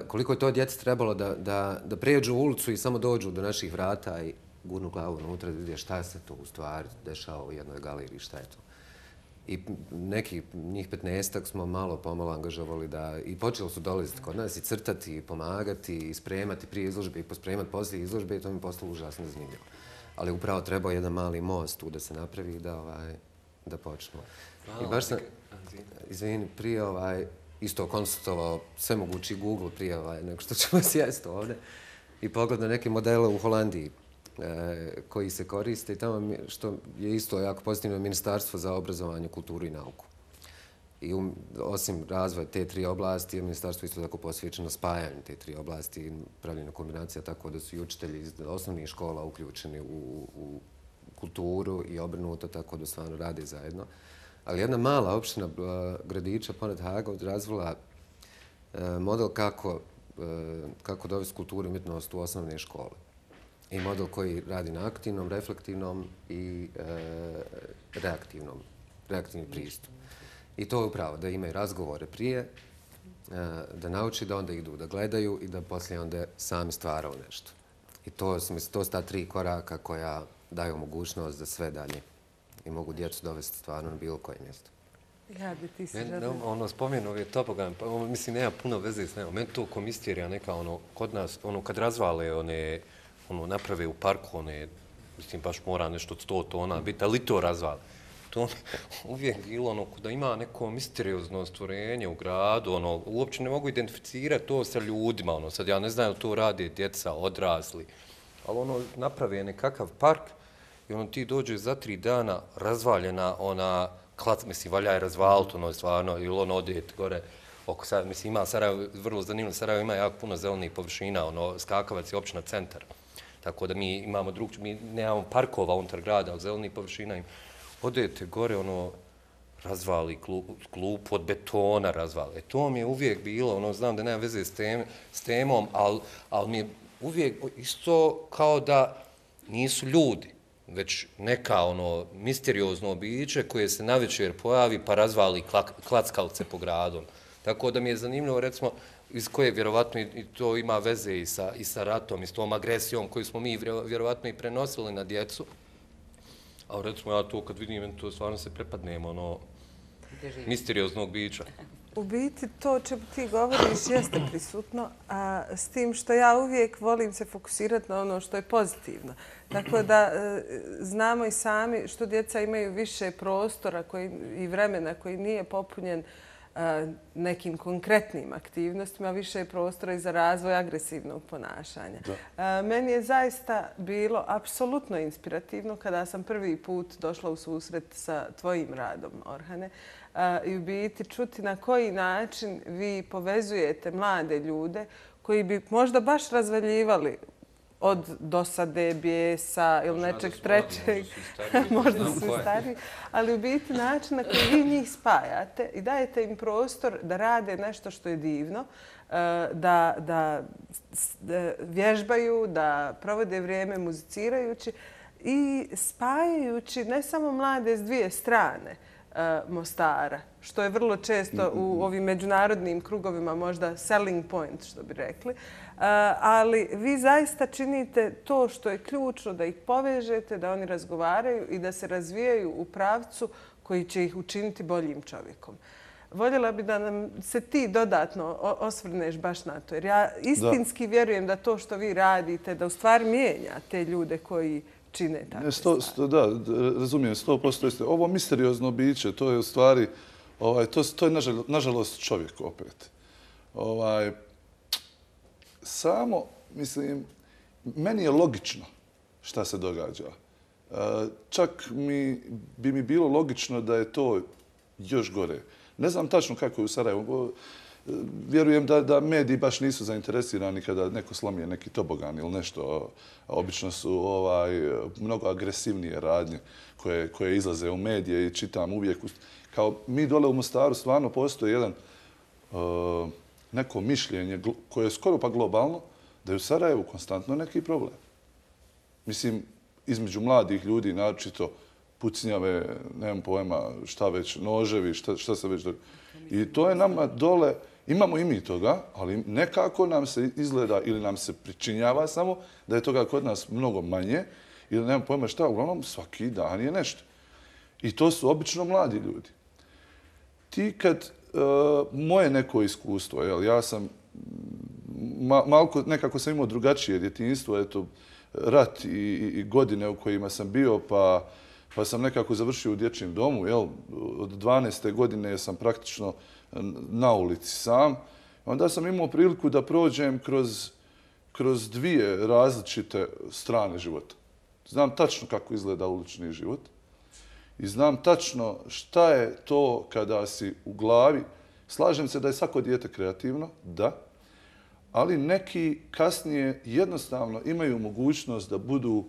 Koliko je to djece trebalo da pređu u ulicu i samo dođu do naših vrata i gurnu glavu unutra da vidje šta se to u stvari dešava u jednoj galeriji, šta je to. I neki, njih 15-ak smo malo pomalo angažovali i počeli su dolaziti kod nas i crtati, i pomagati, i spremati prije izložbe i pospremati poslije izložbe i to mi je postalo užasno zanimljivo. Ali upravo trebao jedan mali most tu da se napravi i da počnu. I baš sam, izvini, prije isto konsultovao sve mogući Google prije nego što ćemo sjesti ovdje i pogledao neke modele u Holandiji koji se koriste i tamo što je isto jako pozitivno Ministarstvo za obrazovanje, kulturu i nauku. I osim razvoja te tri oblasti, je Ministarstvo isto tako posvećeno spajanju te tri oblasti i pravljenju kombinacija tako da su i učitelji iz osnovnih škola uključeni u kulturu i obrnuto tako da stvarno rade zajedno. Ali jedna mala opština gradića pored Haga razvila model kako dovesti kulturu i umjetnost u osnovne škole. I model koji radi na aktivnom, reflektivnom i reaktivni pristup. I to je upravo da imaju razgovore prije, da nauči da onda idu da gledaju i da poslije onda sami stvaraju nešto. I to su ta tri koraka koja daju mogućnost da sve dalje i mogu djecu dovesti stvarno na bilo koje mjesto. Ja bi ti se želio. Spomenu ove topogan, mislim, nema puno veze s nema. Meni to ko misterija neka, kod nas, kad razvale naprave u parku, mislim, baš mora nešto od 100 tona biti, ali to razvale. To uvijek bilo da ima neko misteriozno stvorenje u gradu, uopće ne mogu identificirati to sa ljudima, sad ja ne znam da to rade djeca, odrasli, ali naprave nekakav park i ti dođe za 3 dana razvaljena mislim, valja je razvaliti, stvarno, ili odete gore oko Sarajeva, mislim, ima Sarajevo, vrlo zanimljivo, Sarajevo ima jako puno zelenih površina, Skakavac je općina centar, tako da mi imamo mi nemamo parkova unutar grada, ali zelenih površina im. Odete gore, razvali klupu od betona, razvali. To mi je uvijek bilo, znam da nema veze s temom, ali mi je uvijek isto kao da nisu ljudi. već neka misteriozno biće koje se navečer pojavi pa razvali klackalce po gradom. Tako da mi je zanimljivo, recimo, iz koje vjerovatno i to ima veze i sa ratom i s tom agresijom koju smo mi vjerovatno i prenosili na djecu. A recimo ja to kad vidim, to stvarno se prepadnem misterioznog bića. U biti to o čemu ti govoriš jeste prisutno, a s tim što ja uvijek volim se fokusirati na ono što je pozitivno. Tako da znamo i sami što djeca imaju više prostora i vremena koji nije popunjen nekim konkretnim aktivnostima, više je prostora i za razvoj agresivnog ponašanja. Meni je zaista bilo apsolutno inspirativno kada sam prvi put došla u susret sa tvojim radom, Orhane, i u biti čuti na koji način vi povezujete mlade ljude koji bi možda baš razvaljivali od dosade, bijesa ili nečeg trećeg. Možda su i stariji. Ali u biti način na koji vi njih spajate i dajete im prostor da rade nešto što je divno, da vježbaju, da provode vrijeme muzicirajući i spajajući ne samo mlade s dvije strane Mostara, što je vrlo često u ovim međunarodnim krugovima možda selling point, što bi rekli. Ali vi zaista činite to što je ključno, da ih povežete, da oni razgovaraju i da se razvijaju u pravcu koji će ih učiniti boljim čovjekom. Voljela bi da nam se ti dodatno osvrneš baš na to, jer ja istinski vjerujem da to što vi radite, da u stvari mijenja te ljude koji čine takve stvari. Da, razumijem, 100%. Ovo misteriozno biće, to je u stvari, to je nažalost čovjek opet. Samo, mislim, meni je logično šta se događa. Čak bi mi bilo logično da je to još gore. Ne znam tačno kako je u Sarajevu. Vjerujem da mediji baš nisu zainteresirani kada neko slomije neki tobogan ili nešto. Obično su mnogo agresivnije radnje koje izlaze u medije i čitam uvijek. Kao mi dole u Mostaru stvarno postoji jedan neko mišljenje koje je skoro pa globalno, da je u Sarajevu konstantno neki problem. Mislim, između mladih ljudi, naročito pucnjave, nemam pojma, šta već, noževi, šta se već... I to je nama dole, imamo i mi toga, ali nekako nam se izgleda ili nam se pričinjava samo da je toga kod nas mnogo manje ili nemam pojma šta, uglavnom svaki dan je nešto. I to su obično mladi ljudi. Ti kad moje neko iskustvo, ja sam nekako sam imao drugačije djetinjstvo, eto, rat i godine u kojima sam bio, pa sam nekako završio u dječjem domu. Od 12. godine sam praktično na ulici sam. Onda sam imao priliku da prođem kroz dvije različite strane života. Znam tačno kako izgleda ulični život i znam tačno šta je to kada si u glavi. Slažem se da je svako dijete kreativno, da, ali neki kasnije jednostavno imaju mogućnost da budu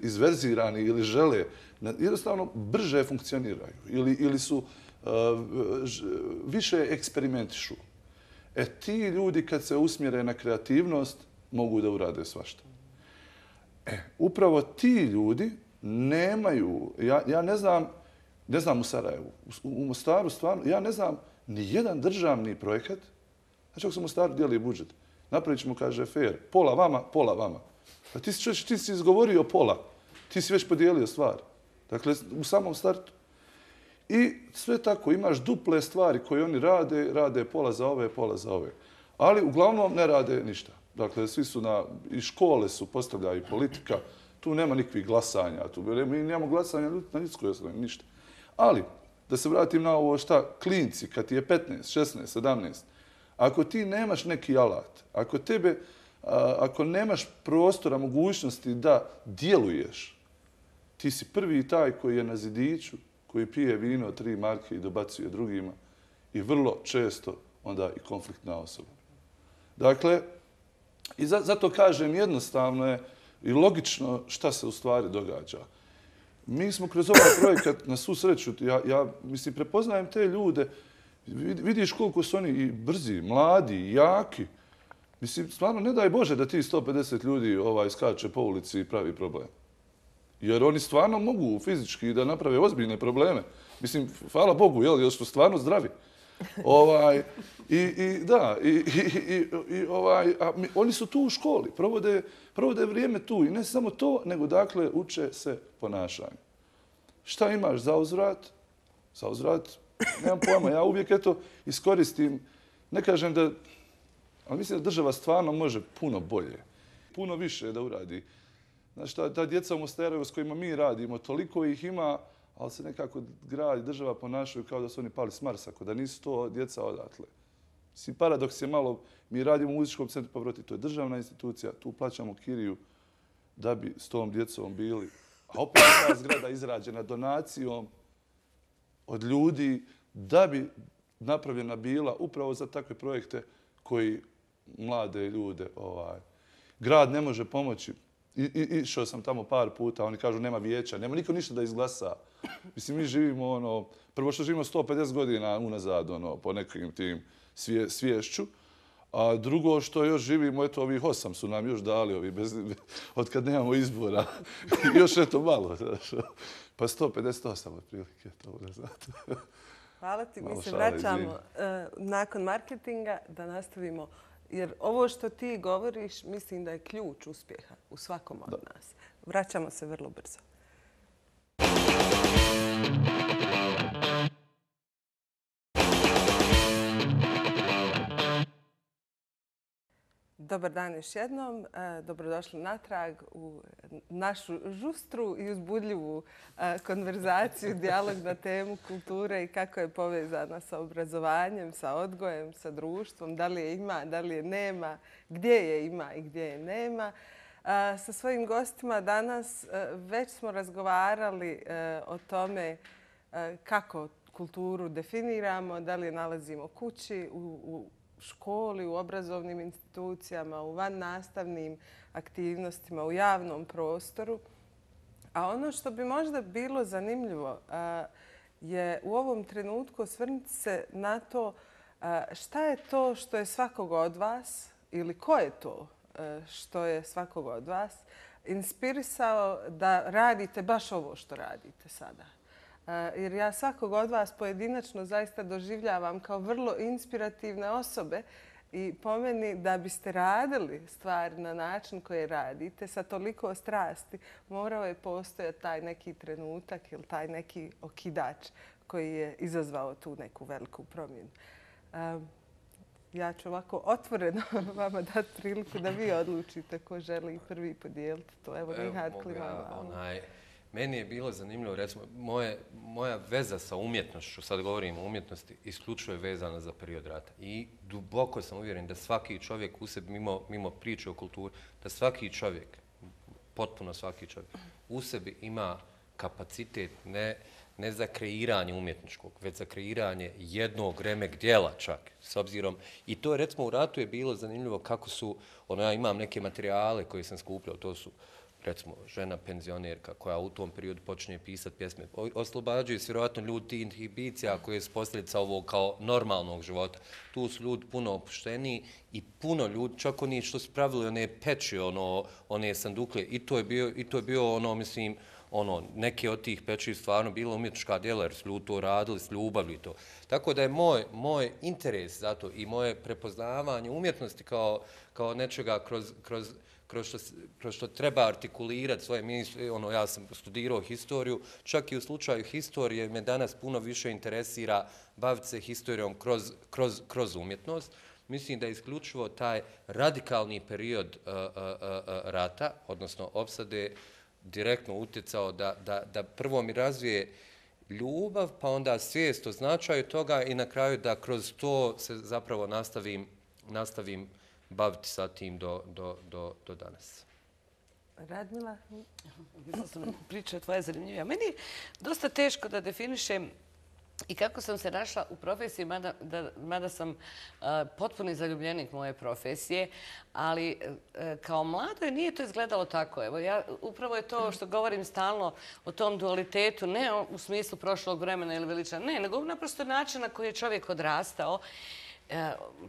izverzirani ili žele, jednostavno brže funkcioniraju ili su više eksperimentišu. Ti ljudi kad se usmjere na kreativnost mogu da urade svašta. Upravo ti ljudi nemaju, ja ne znam u Sarajevu, u Mostaru stvarno, ja ne znam ni jedan državni projekat. Znači, ako se u Mostaru dijeli budžet, napravit ćemo, kaže, fair, pola vama, pola vama. Pa ti si izgovorio pola, ti si već podijelio stvar. Dakle, u samom startu. I sve tako, imaš duple stvari koje oni rade pola za ove, pola za ove. Ali uglavnom ne rade ništa. Dakle, svi su i škole su postavljaju politika, tu nema nikakvih glasanja, mi nemamo glasanja na ljudskoj osnovi, ništa. Ali, da se vratim na ovo šta, klinci, kad ti je 15, 16, 17, ako ti nemaš neki alat, ako nemaš prostora, mogućnosti da djeluješ, ti si prvi taj koji je na zidiću, koji pije vino 3 marke i dobacuje drugima i vrlo često onda i konfliktna osoba. Dakle, i zato kažem jednostavno je i logično šta se u stvari događa. Mi smo kroz ovaj projekat, na svu sreću, ja mislim, prepoznajem te ljude, vidiš koliko su oni i brzi, mladi, i jaki. Mislim, stvarno, ne daj Bože da ti 150 ljudi skače po ulici i pravi problem. Jer oni stvarno mogu fizički da naprave ozbiljne probleme. Mislim, hvala Bogu, jer su stvarno zdravi. Oni su tu u školi, provode vrijeme tu i ne samo to, nego dakle uče se ponašanju. Šta imaš za uzvrat? Za uzvrat, nemam pojma, ja uvijek iskoristim, ne kažem da, ali mislim da država stvarno može puno bolje, puno više da uradi. Znaš, ta djeca u Mostaru s kojima mi radimo, toliko ih ima, ali se nekako grad i država ponašaju kao da su oni pali s Marsa, da nisu to djeca odatle. Mislim, paradoks je malo, mi radimo u muzičkom centru Pavroti, to je državna institucija, tu plaćamo kiriju da bi s tom djecom bili. A opet ta zgrada izrađena donacijom od ljudi da bi napravljena bila upravo za takve projekte koji mlade ljude grad ne može pomoći. Išao sam tamo par puta, oni kažu nema vijeća, nema niko ništa da izglasa. Mislim, mi živimo, prvo što živimo 150 godina unazad, po nekim tim sviješću, a drugo što još živimo, eto, ovih 8 su nam još dali, od kad nemamo izbora. Još malo, pa 158 otprilike to unazad. Hvala ti, mi se vraćamo nakon marketinga da nastavimo. Jer ovo što ti govoriš, mislim da je ključ uspjeha u svakom od nas. Vraćamo se vrlo brzo. Dobar dan još jednom. Dobrodošli natrag u našu žustru i uzbudljivu konverzaciju, dijalog na temu kulture i kako je povezana sa obrazovanjem, sa odgojem, sa društvom, da li je ima, da li je nema, gdje je ima i gdje je nema. Sa svojim gostima danas već smo razgovarali o tome kako kulturu definiramo, da li je nalazimo kući, u školi, u obrazovnim institucijama, u vannastavnim aktivnostima, u javnom prostoru. A ono što bi možda bilo zanimljivo je u ovom trenutku osvrnuti se na to šta je to što je svakog od vas ili ko je to što je svakog od vas inspirisao da radite baš ovo što radite sada. Jer ja svakog od vas pojedinačno zaista doživljavam kao vrlo inspirativne osobe i po meni da biste radili stvari na način koji radite sa toliko strasti, morao je postojati taj neki trenutak ili taj neki okidač koji je izazvao tu neku veliku promjenu. Ja ću ovako otvoreno vama dati priliku da vi odlučite ko želi prvi podijeliti to. Evo, Nihad klima. Meni je bilo zanimljivo, recimo, moja veza sa umjetnošću, sad govorim o umjetnosti, isključivo je vezana za period rata. I duboko sam uvjeren da svaki čovjek u sebi, mimo priče o kulturi, da svaki čovjek, potpuno svaki čovjek, u sebi ima kapacitet ne za kreiranje umjetničkog, već za kreiranje jednog remek djela čak, s obzirom. I to, recimo, u ratu je bilo zanimljivo kako su, ja imam neke materijale koje sam skupljao, to su recimo žena penzionerka koja u tom periodu počinje pisati pjesme. Oslobađaju se vjerojatno ljudi tih inhibicija koje su posljedica ovog kao normalnog života. Tu su ljudi puno opušteniji i puno ljudi, čak oni što su pravili one peći, one sandukle, i to je bio mislim, neke od tih peći stvarno bilo umjetnička djela jer su ljudi to radili s ljubavlju i to. Tako da je moj interes zato i moje prepoznavanje umjetnosti kao nečega kroz što treba artikulirati svoje misli. Ja sam studirao historiju, čak i u slučaju historije me danas puno više interesira baviti se historijom kroz umjetnost. Mislim da je isključivo taj radikalni period rata, odnosno opsade, direktno utjecao da prvo mi razvije ljubav, pa onda svijest o značaju toga i na kraju da kroz to se zapravo nastavim baviti sa tim do danas. Radmila? Priča tvoja je zanimljivija. Meni je dosta teško da definišem i kako sam se našla u profesiji, mada sam potpuni zaljubljenik moje profesije, ali kao mladoj nije to izgledalo tako. Evo, upravo je to što govorim stalno o tom dualitetu, ne u smislu prošlog vremena ili veličana, ne, nego naprosto način na koji je čovjek odrastao.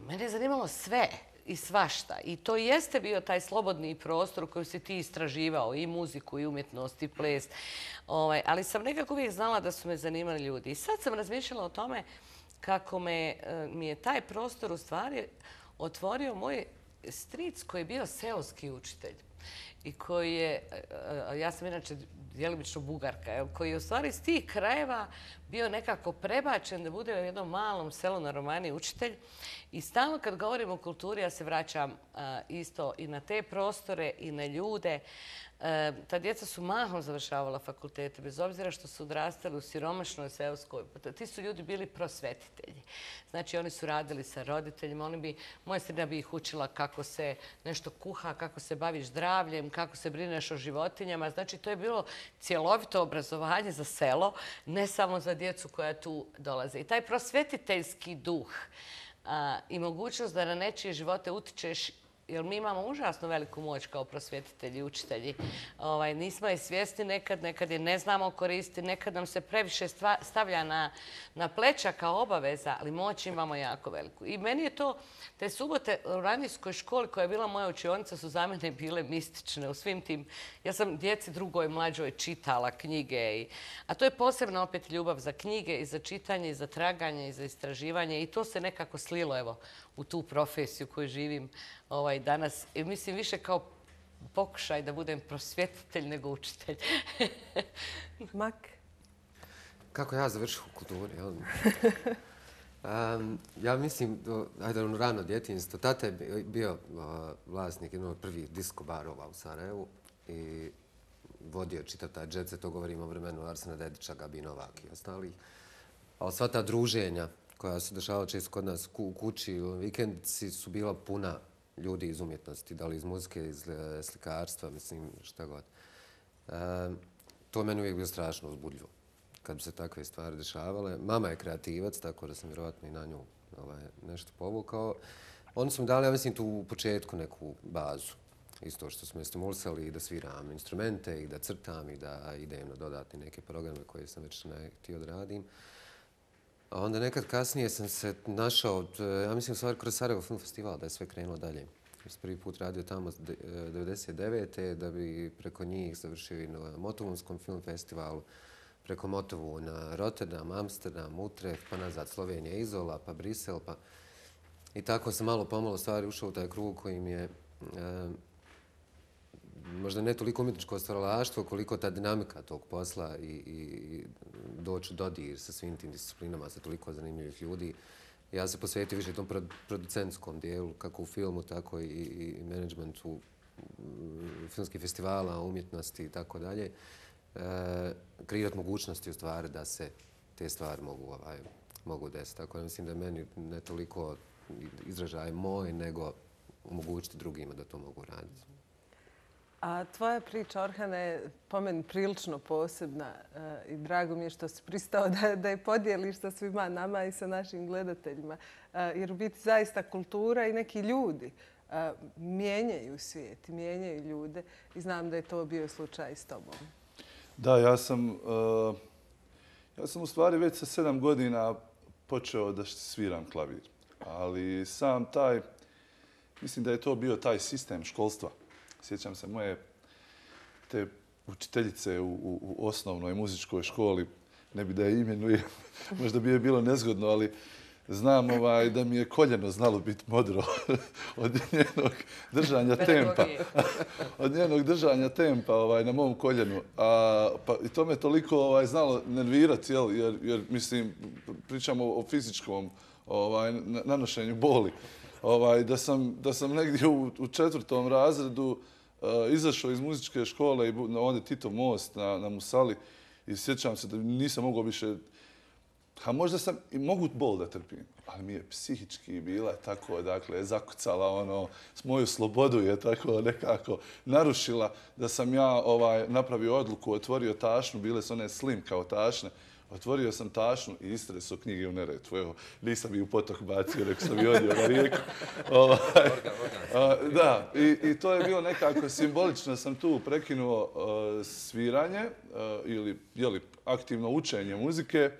Mene je zanimalo sve. i svašta. I to jeste bio taj slobodni prostor u kojem si ti istraživao i muziku, i umjetnost, i ples. Ali sam nekako uvijek znala da su me zanimali ljudi. I sad sam razmišljala o tome kako mi je taj prostor u stvari otvorio moj stric koji je bio seoski učitelj. I koji je, ja sam inače djelimično Bugarka, koji je u stvari iz tih krajeva bio nekako prebačen da bude u jednom malom selu na Romaniji učitelj. I stalno kad govorim o kulturi, ja se vraćam isto i na te prostore i na ljude. Ta djeca su mahom završavala fakultete, bez obzira što su odrastali u siromašnoj seoskoj. Ti su ljudi bili prosvetitelji. Znači, oni su radili sa roditeljima. Moja sredina bi ih učila kako se nešto kuha, kako se baviš zdravljem, kako se brineš o životinjama. Znači, to je bilo cjelovito obrazovanje za selo, ne samo za djecu koja tu dolaze. I taj prosvetiteljski duh i mogućnost da na nečije živote utičeš, jer mi imamo užasno veliku moć kao prosvjetitelji i učitelji. Nismo je svjesni nekad je ne znamo koristiti, nekad nam se previše stavlja na pleća kao obaveza, ali moć imamo jako veliku. I meni je to, te subote u radijskoj školi koja je bila moja učionica su za mene bile mistične u svim tim. Ja sam djeci drugoj, mlađoj čitala knjige. A to je posebno opet ljubav za knjige i za čitanje i za traganje i za istraživanje. I to se nekako slilo, evo, u tu profesiju koju živim danas. I mislim više kao pokušaj da budem prosvjetitelj nego učitelj. Mak? Kako ja završio u kulturi? Ja mislim, rano djetinjstvo. Tata je bio vlasnik jednog prvih disko barova u Sarajevu i vodio čitav taj jet set, to govorimo o vremenu Arsena Dedića, Gabi Novak i ostalih. Ali sva ta druženja koja se dešavala često kod nas u kući, u vikendici su bila puna ljudi iz umjetnosti, da li iz muzike, iz slikarstva, mislim, šta god. To meni uvijek bilo strašno uzbudljivo kad bi se takve stvari dešavale. Mama je kreativac, tako da sam vjerovatno i na nju nešto povukao. Oni su mi dali, ja mislim, tu u početku neku bazu. Isto što smo me stimulisali i da sviram instrumente i da crtam i da idem na dodatne neke programe koje sam već htio da radim. A onda nekad kasnije sam se našao, ja mislim u stvari kroz Sarajevo film festival, da je sve krenulo dalje. Ja sam prvi put radio tamo 1999. da bi preko njih završio i na Motovunskom film festivalu, preko Motovu na Rotterdam, Amsterdam, Utrecht, pa nazad Slovenija, Izola, pa Brisel. I tako sam malo pomalo stvari ušao u taj krug koji mi je možda ne toliko umjetničko stvaralaštvo, koliko ta dinamika tog posla i doći u dodir sa svim tim disciplinama, sa toliko zanimljivih ljudi. Ja se posvetio više tom producentskom dijelu, kako u filmu, tako i menadžmentu filmskih festivala, umjetnosti i tako dalje. Kreirati mogućnosti u stvari da se te stvari mogu desiti. Tako da mislim da meni ne toliko izražaj moj, nego omogućiti drugima da to mogu raditi. A tvoja priča, Orhana, je po meni prilično posebna i drago mi je što si pristao da je podijeliš sa svima nama i sa našim gledateljima. Jer u biti zaista kultura i neki ljudi mijenjaju svijet, mijenjaju ljude i znam da je to bio slučaj s tobom. Da, ja sam u stvari već sa 7 godina počeo da sviram klavir. Ali sam mislim da je to bio taj sistem školstva. Sjećam se moje te učiteljice u osnovnoj muzičkoj školi, ne bi da je imenujem, možda bi je bilo nezgodno, ali znam da mi je koljeno znalo biti modro od njenog držanja tempa. Od njenog držanja tempa na mom koljenu. I to me toliko znalo nervirati, jer mislim, pričamo o fizičkom nanošenju boli. Da sam negdje u 4. razredu izašao iz muzičke škole i ovdje Tito most na Musali i sjećam se da nisam mogao više, možda sam i mogu bol da trpim, ali mi je psihički bila tako, dakle, zakucala moju slobodu je tako nekako narušila da sam ja napravio odluku, otvorio tašnu, bile su one slim kao tašne, otvorio sam tašnu i istresao knjige u Neretvu. Evo, nisam i u potok bacio, nego sam i odio na rijeku. Da, i to je bilo nekako simbolično. Sam tu prekinuo sviranje ili aktivno učenje muzike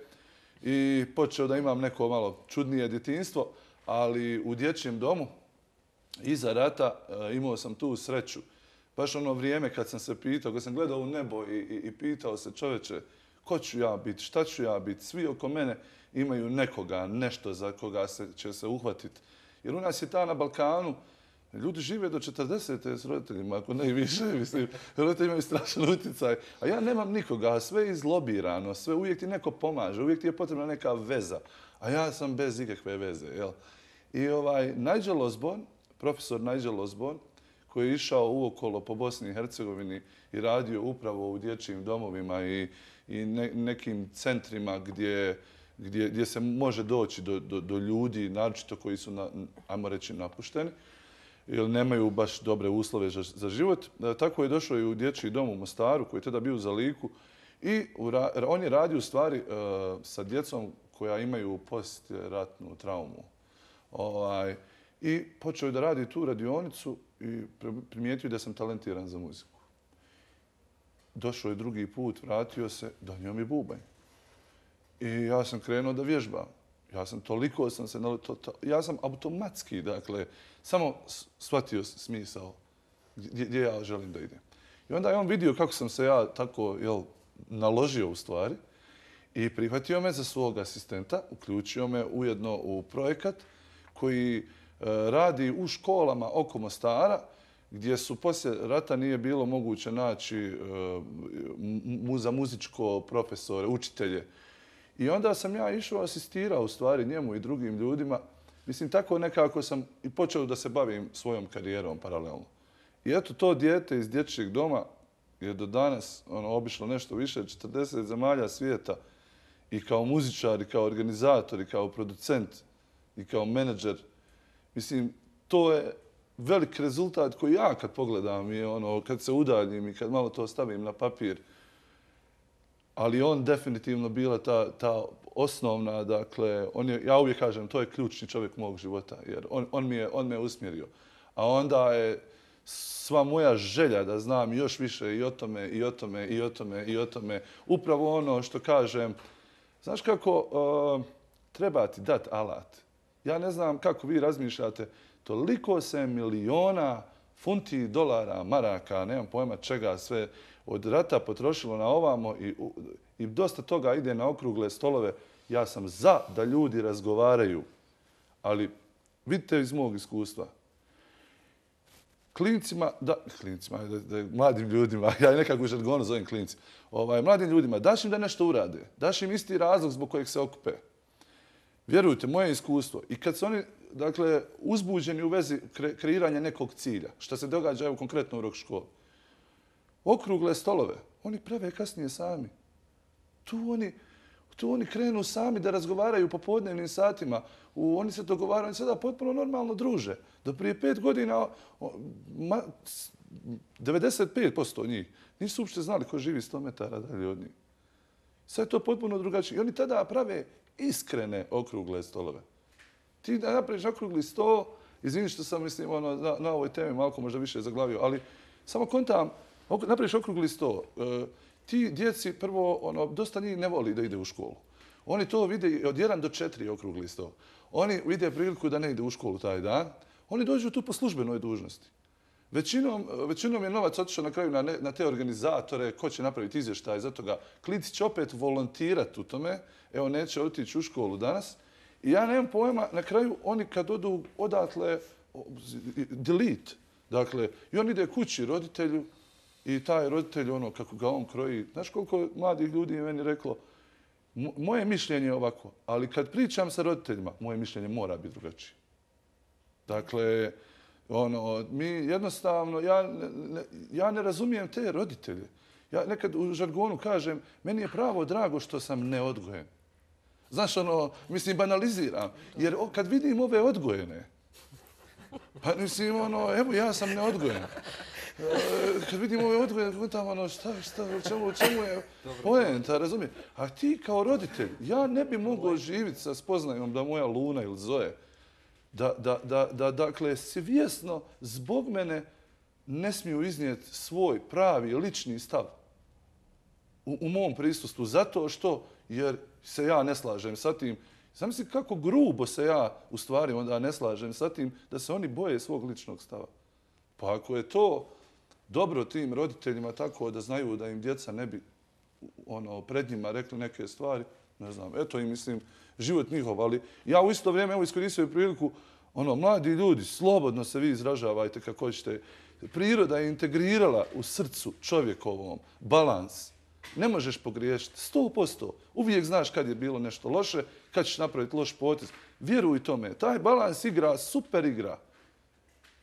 i počeo da imam neko malo čudnije djetinjstvo, ali u dječjem domu iza rata imao sam tu sreću. Baš ono vrijeme kad sam se pitao, kad sam gledao u nebo i pitao se čoveče, ko ću ja biti, šta ću ja biti, svi oko mene imaju nekoga, nešto za koga će se uhvatiti. Jer u nas je ta na Balkanu, ljudi žive do 40. s roditeljima, ako ne i više, mislim, roditelji imaju strašan utjecaj. A ja nemam nikoga, sve je izlobirano, sve uvijek ti neko pomaže, uvijek ti je potrebna neka veza. A ja sam bez ikakve veze, jel? I Nigel Osborne, profesor Nigel Osborne, koji je išao uokolo po Bosni i Hercegovini i radio upravo u dječjim domovima i nekim centrima gdje se može doći do ljudi, naročito koji su, ajmo reći, napušteni, jer nemaju baš dobre uslove za život. Tako je došao i u dječji dom u Mostaru, koji je tada bio za Liku. I on je radio u stvari sa djecom koja imaju postratnu traumu. I počeo je da radi tu radionicu i primijetio da sam talentiran za muziku. Došao je drugi put, vratio se, donio mi bubanj. I ja sam krenuo da vježbam. Ja sam automatski, dakle, samo shvatio smisao gdje ja želim da idem. I onda je on vidio kako sam se ja tako naložio u stvari i prihvatio me za svog asistenta, uključio me ujedno u projekat koji radi u školama oko Mostara, gdje su poslije rata nije bilo moguće naći za muzičko profesore, učitelje. I onda sam ja išao, asistirao u stvari njemu i drugim ljudima. Mislim, tako nekako sam i počeo da se bavim svojom karijerom paralelno. I eto, to dijete iz dječjeg doma je do danas obišlo nešto više od 40 zemalja svijeta i kao muzičar, i kao organizator, i kao producent, i kao menadžer. Mislim, to je velik rezultat koji ja kad pogledam i kad se udaljim i kad malo to stavim na papir. Ali on definitivno bila ta osnovna, dakle, ja uvijek kažem, to je ključni čovjek mog života, jer on me je usmjerio. A onda je sva moja želja da znam još više i o tome, i o tome, i o tome, i o tome. Upravo ono što kažem, znaš kako treba ti dati alat. Ja ne znam kako vi razmišljate, toliko se miliona funti, dolara, maraka, nemam pojma čega sve, od rata potrošilo na ovamo i dosta toga ide na okrugle stolove. Ja sam za da ljudi razgovaraju, ali vidite iz mog iskustva. Mladim ljudima, ja nekako u žargonu zovem klinci, mladim ljudima, daš im da nešto urade, daš im isti razlog zbog kojeg se okupe. Vjerujte, moje iskustvo. I kad su oni, dakle, uzbuđeni u vezi kreiranja nekog cilja, što se događa evo konkretno u rock školi, okrugle stolove, oni prave kasnije sami. Tu oni krenu sami da razgovaraju po podnevnim satima. Oni se dogovaraju, oni sada potpuno normalno druže. Do prije 5 godina 95% njih nisu uopšte znali ko živi 100 metara dalje od njih. Sad je to potpuno drugačije. I oni tada prave iskrene okrugle stolove. Ti da napraviš okrugli sto, izvini što sam mislim na ovoj temi malo možda više zaglavio, ali samo kontam, napraviš okrugli sto. Ti djeci prvo, dosta njih ne voli da ide u školu. Oni to vide od 1 do 4 okrugli sto. Oni vide priliku da ne ide u školu taj dan. Oni dođu tu po službenoj dužnosti. Većinom je novac otišao na kraju na te organizatore, ko će napraviti izvještaj za toga. Klinci će opet volontirati u tome, evo neće otići u školu danas. I ja nemam pojma, na kraju oni kad odu odatle, delete. Dakle, i on ide kući roditelju i taj roditelj, kako ga on kroji. Znaš koliko mladih ljudi je meni reklo, moje mišljenje je ovako, ali kad pričam sa roditeljima, moje mišljenje mora biti drugačije. Dakle, mi jednostavno, ja ne razumijem te roditelje. Ja nekad u žargonu kažem, meni je pravo drago što sam neodgojen. Znaš, mislim, banaliziram. Jer kad vidim ove odgojene, pa mislim, evo, ja sam neodgojen. Kad vidim ove odgojene, tamo, u čemu je poenta, razumijem. A ti kao roditelj, ja ne bi mogao živjeti sa spoznajom da moja Luna ili Zoe, da dakle, svjesno zbog mene ne smiju iznijeti svoj pravi, lični stav u mom prisustvu. Zato što, jer se ja ne slažem sa tim, Zamisli kako grubo se ja u stvari onda ne slažem sa tim da se oni boje svog ličnog stava. Pa ako je to dobro tim roditeljima tako da znaju da im djeca ne bi pred njima rekli neke stvari, ne znam, eto i mislim, život njihov, ali ja u isto vrijeme, evo iskoristio priliku, mladi ljudi, slobodno se vi izražavajte kako ćete. Priroda je integrirala u srcu čovjekovom balans. Ne možeš pogriješiti 100%. Uvijek znaš kad je bilo nešto loše, kad ćeš napraviti loš potez. Vjeruj tome, taj balans igra, super igra.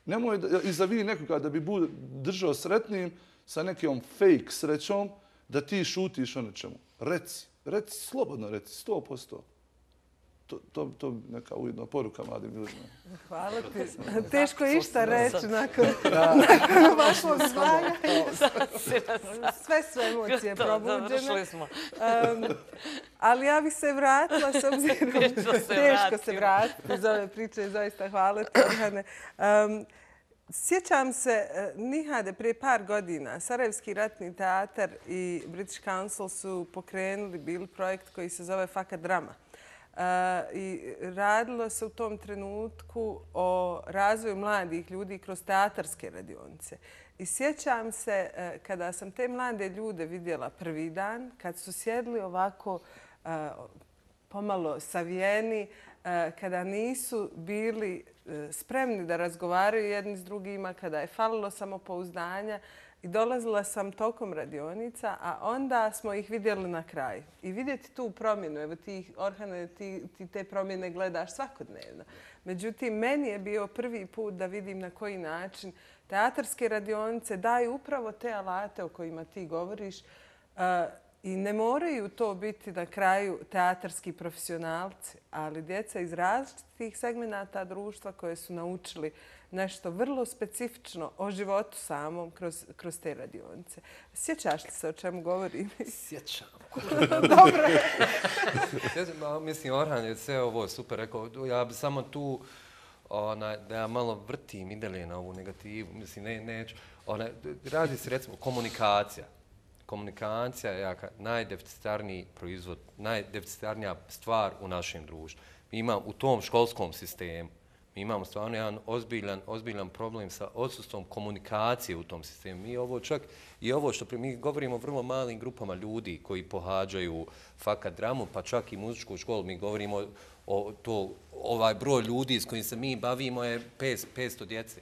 Nemoj izavi nekoga da bi držao sretnim sa nekom fake srećom da ti šutiš o nečemu. Reci, slobodno reci, 100%. To je neka ujedna poruka mladim ljudima. Hvala ti. Teško je išta reći nakon vašeg zvanja. Sve su emocije probuđene. Ali ja bih se vratila s obzirom. Teško se vratiti iz ove priče. Zaista hvala ti, Orhane. Sjećam se, Nihade, prije par godina Sarajevski ratni teatar i British Council su pokrenuli bili projekt koji se zove Fakat drama. I radilo se u tom trenutku o razvoju mladih ljudi kroz teatarske radionice. I sjećam se kada sam te mlade ljude vidjela prvi dan, kad su sjedli ovako pomalo savijeni, kada nisu bili spremni da razgovaraju jedni s drugima, kada je falilo samopouzdanja. I dolazila sam tokom radionica, a onda smo ih vidjeli na kraju. I vidjeti tu promjenu, evo ti, Orhane, ti te promjene gledaš svakodnevno. Međutim, meni je bio prvi put da vidim na koji način teatarske radionice daju upravo te alate o kojima ti govoriš i ne moraju to biti na kraju teatarski profesionalci, ali djeca iz različitih segmenata društva koje su naučili nešto vrlo specifično o životu samom kroz te radionice. Sjećaš li se o čemu govorim? Sjećam. Dobro. Mislim, Orhan je sve ovo super rekao. Ja bi samo tu da ja malo vrtim i dalje na ovu negativu. Mislim, neću. Radi se recimo komunikacija. Komunikacija je najdeficitarniji proizvod, najdeficitarnija stvar u našem društvu. Mi imamo u tom školskom sistemu, mi imamo stvarno jedan ozbiljan problem sa odsustvom komunikacije u tom sistemu. Mi ovo čak i ovo što mi govorimo o vrlo malim grupama ljudi koji pohađaju fakat dramu, pa čak i muzičku školu, mi govorimo o ovaj broj ljudi s kojim se mi bavimo je 500 djece.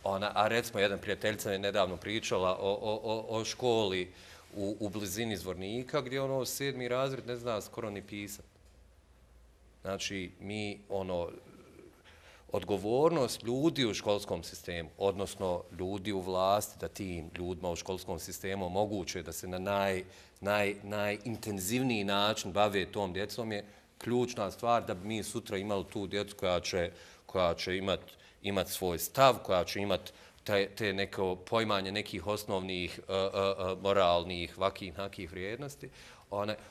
A recimo, jedan prijateljica je nedavno pričala o školi u blizini Zvornika, gdje 7. razred ne zna skoro ni pisati. Znači, mi odgovornost ljudi u školskom sistemu, odnosno ljudi u vlasti, da tim ljudima u školskom sistemu omoguće da se na najintenzivniji način bave tom djecom je ključna stvar da bi mi sutra imali tu djecu koja će imati svoj stav, koja će imati te neko poimanje nekih osnovnih moralnih, vakih vrijednosti.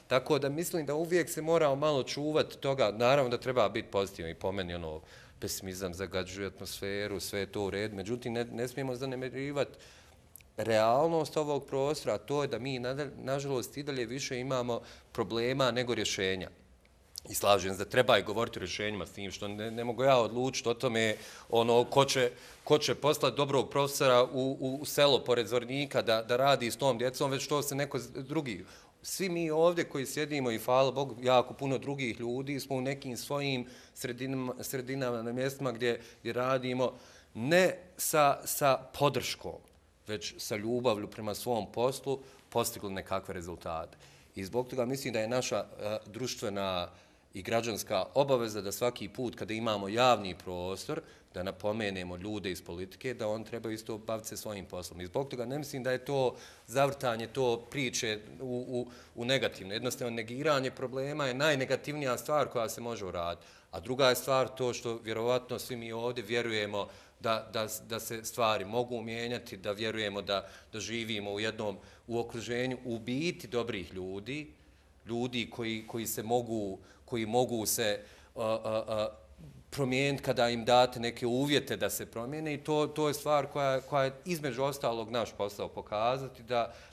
Tako da mislim da uvijek se moramo malo čuvati toga. Naravno da treba biti pozitivno i po meni pesimizam zagađuje atmosferu, sve je to u redu. Međutim, ne smijemo zanemarivati realnost ovog prostora, a to je da mi, nažalost, i dalje više imamo problema nego rješenja. I slažem se da treba i govoriti o rješenjima s tim, što ne mogu ja odlučiti o tome ko će poslati dobrog profesora u selo pored Zvornika da radi s tom djecom, već to se neko drugi. Svi mi ovdje koji sjedimo i hvala Bogu, jako puno drugih ljudi smo u nekim svojim sredinama na mjestima gdje radimo ne sa podrškom, već sa ljubavlju prema svom poslu postigli nekakve rezultate. I zbog toga mislim da je naša društvena i građanska obaveza da svaki put kada imamo javni prostor, da napomenemo ljude iz politike, da on treba isto baviti se svojim poslom. I zbog toga ne mislim da je to zavrtanje, to priče u negativno. Jednostavno, negiranje problema je najnegativnija stvar koja se može uraditi. A druga je stvar to što vjerovatno svi mi ovdje vjerujemo da se stvari mogu mijenjati, da vjerujemo da živimo u okruženju u biti dobrih ljudi, ljudi koji mogu se promijeniti kada im date neke uvjete da se promijene i to je stvar koja je između ostalog naš posao pokazati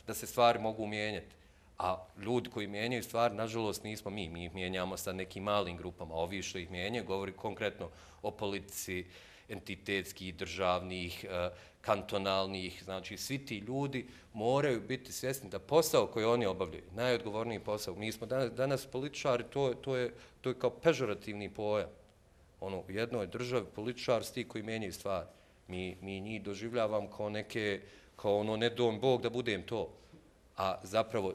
da se stvari mogu mijenjati. A ljudi koji mijenjaju stvari, nažalost, nismo mi. Mi ih mijenjamo sa nekim malim grupama. Ovi što ih mijenjaju govori konkretno o politici entitetskih, državnih, kantonalnih. Znači, svi ti ljudi moraju biti svjesni da posao koji oni obavljaju, najodgovorniji posao, mi smo danas političari, to je kao pežorativni pojam. U jednoj državi političar sti koji mijenjaju stvari. Mi njih doživljavam kao ne dom Bog da budem to. A zapravo,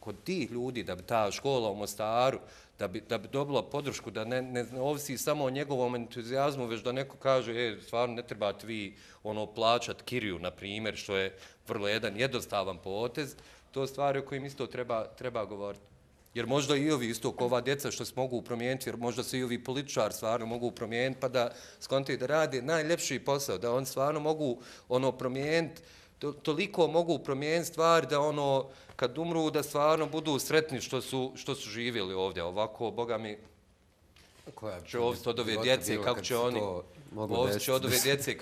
kod tih ljudi, da bi ta škola u Mostaru, da bi dobila podršku, da ne ovisi samo o njegovom entuzijazmu, već da neko kaže, stvarno ne trebate vi plaćati kiriju, na primjer, što je vrlo jedan jednostavan potez, to stvari o kojim isto treba govoriti. Jer možda i ovi isto kao ova djeca što se mogu promijeniti, jer možda se i ovi političari stvarno mogu promijeniti, pa da skontaju da rade najljepši posao, da oni stvarno mogu promijeniti, toliko mogu promijeniti stvari da kad umru da stvarno budu sretni što su živjeli ovdje. Ovako, Boga mi, će ovisi od ove djece kako će oni, ovisi od ove djece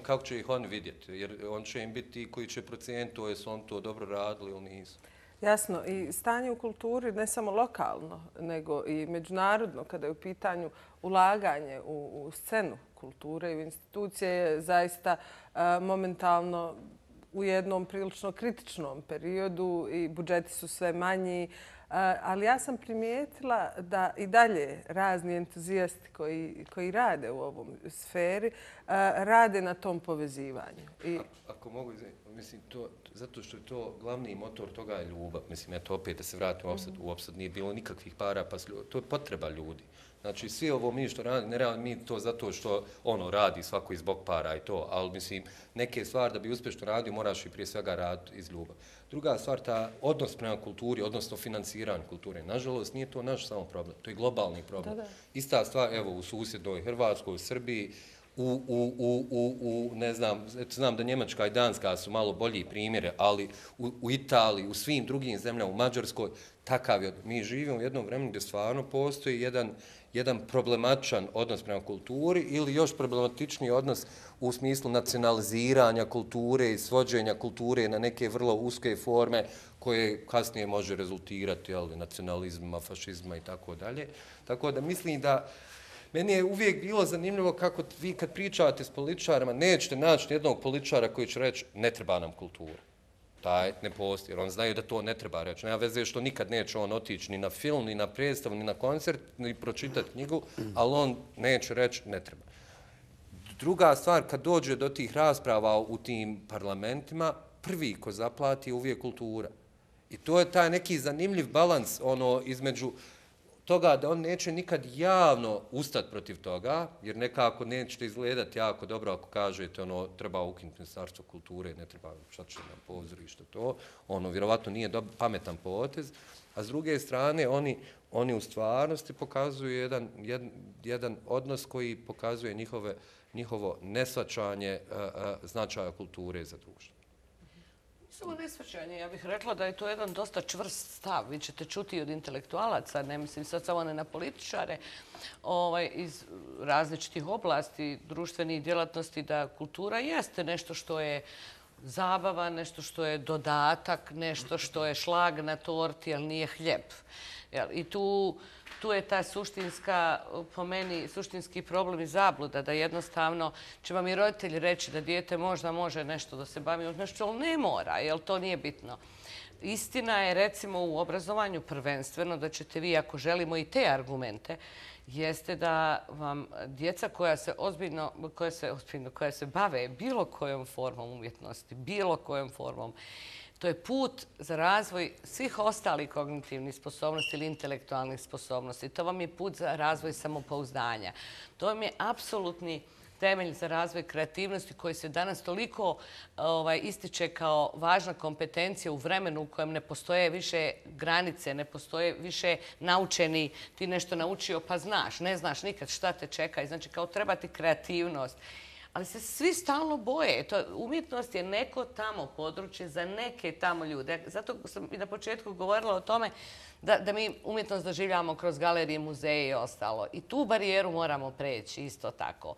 kako će ih oni vidjeti. Jer on će im biti ti koji će procijeniti jesu on to dobro radili ili nisu. Jasno. I stanje u kulturi ne samo lokalno, nego i međunarodno, kada je u pitanju ulaganje u scenu kulture i u institucije, je zaista momentalno u jednom prilično kritičnom periodu i budžeti su sve manji. Ali ja sam primijetila da i dalje razni entuzijasti koji rade u ovom sferi rade na tom povezivanju. Ako mogu, mislim, zato što je to glavni motor toga je ljubav. Mislim, eto opet da se vratim u opsad, nije bilo nikakvih para, pa to je potreba ljudi. Znači, svi ovo mi što radi, ne radi mi to zato što radi svako iz bog para i to, ali mislim, neke stvari da bi uspješno radio moraš i prije svega raditi iz ljubav. Druga stvar, ta odnos prema kulturi, odnosno financiranju kulture. Nažalost, nije to naš samo problem, to je globalni problem. Ista stvar, evo, u susjednoj Hrvatskoj, u Srbiji, ne znam da Njemačka i Danska su malo bolji primjere, ali u Italiji, u svim drugim zemljama, u Mađarskoj, takav je. Mi živimo u jednom vremenu gdje stvarno postoji jedan problematičan odnos prema kulturi ili još problematičniji odnos u smislu nacionaliziranja kulture i svođenja kulture na neke vrlo uske forme koje kasnije može rezultirati nacionalizmima, fašizma i tako dalje. Tako da mislim da meni je uvijek bilo zanimljivo kako vi kad pričate s političarima nećete naći jednog političara koji će reći ne treba nam kultura. Taj ne postoji, jer on znaju da to ne treba reći. Nema veze što nikad neće on otići ni na film, ni na predstavu, ni na koncert, ni pročitati knjigu, ali on neće reći ne treba. Druga stvar, kad dođe do tih rasprava u tim parlamentima, prvi ko zaplati je uvijek kultura. I to je taj neki zanimljiv balans između toga da on neće nikad javno ustati protiv toga, jer nekako nećete izgledati jako dobro ako kažete treba ukinuti Ministarstvo kulture, ne treba šta će nam pozorište to. Vjerovatno nije pametan potez. A s druge strane, oni u stvarnosti pokazuju jedan odnos koji pokazuje njihovo neshvaćanje značaja kulture za društvo. Samo neshvaćanje, ja bih rekla da je to jedan dosta čvrst stav. Vi ćete čuti od intelektualaca, ne mislim sad samo ne na političare, iz različitih oblasti društvenih djelatnosti, da kultura jeste nešto što je zabava, nešto što je dodatak, nešto što je šlag na torti, ali nije hljeb. I tu je ta po meni, suštinski problem i zabluda, da jednostavno će vam i roditelji reći da dijete možda može nešto da se bavi, nešto, ali ne mora, jer to nije bitno. Istina je, recimo, u obrazovanju prvenstveno, da ćete vi, ako želimo i te argumente, jeste da vam djeca koja se bave bilo kojom formom umjetnosti, bilo kojom formom, to je put za razvoj svih ostalih kognitivnih sposobnosti ili intelektualnih sposobnosti. To vam je put za razvoj samopouzdanja. To vam je apsolutni temelj za razvoj kreativnosti koji se danas toliko ističe kao važna kompetencija u vremenu u kojem ne postoje više granice, ne postoje više naučeni, ti nešto naučio pa znaš, ne znaš nikad šta te čeka. Znači kao treba ti kreativnost. ali se svi stalno boje. Umjetnost je neko tamo područje za neke tamo ljude. Zato sam i na početku govorila o tome da mi umjetnost doživljavamo kroz galerije, muzeje i ostalo. I tu barijeru moramo preći isto tako.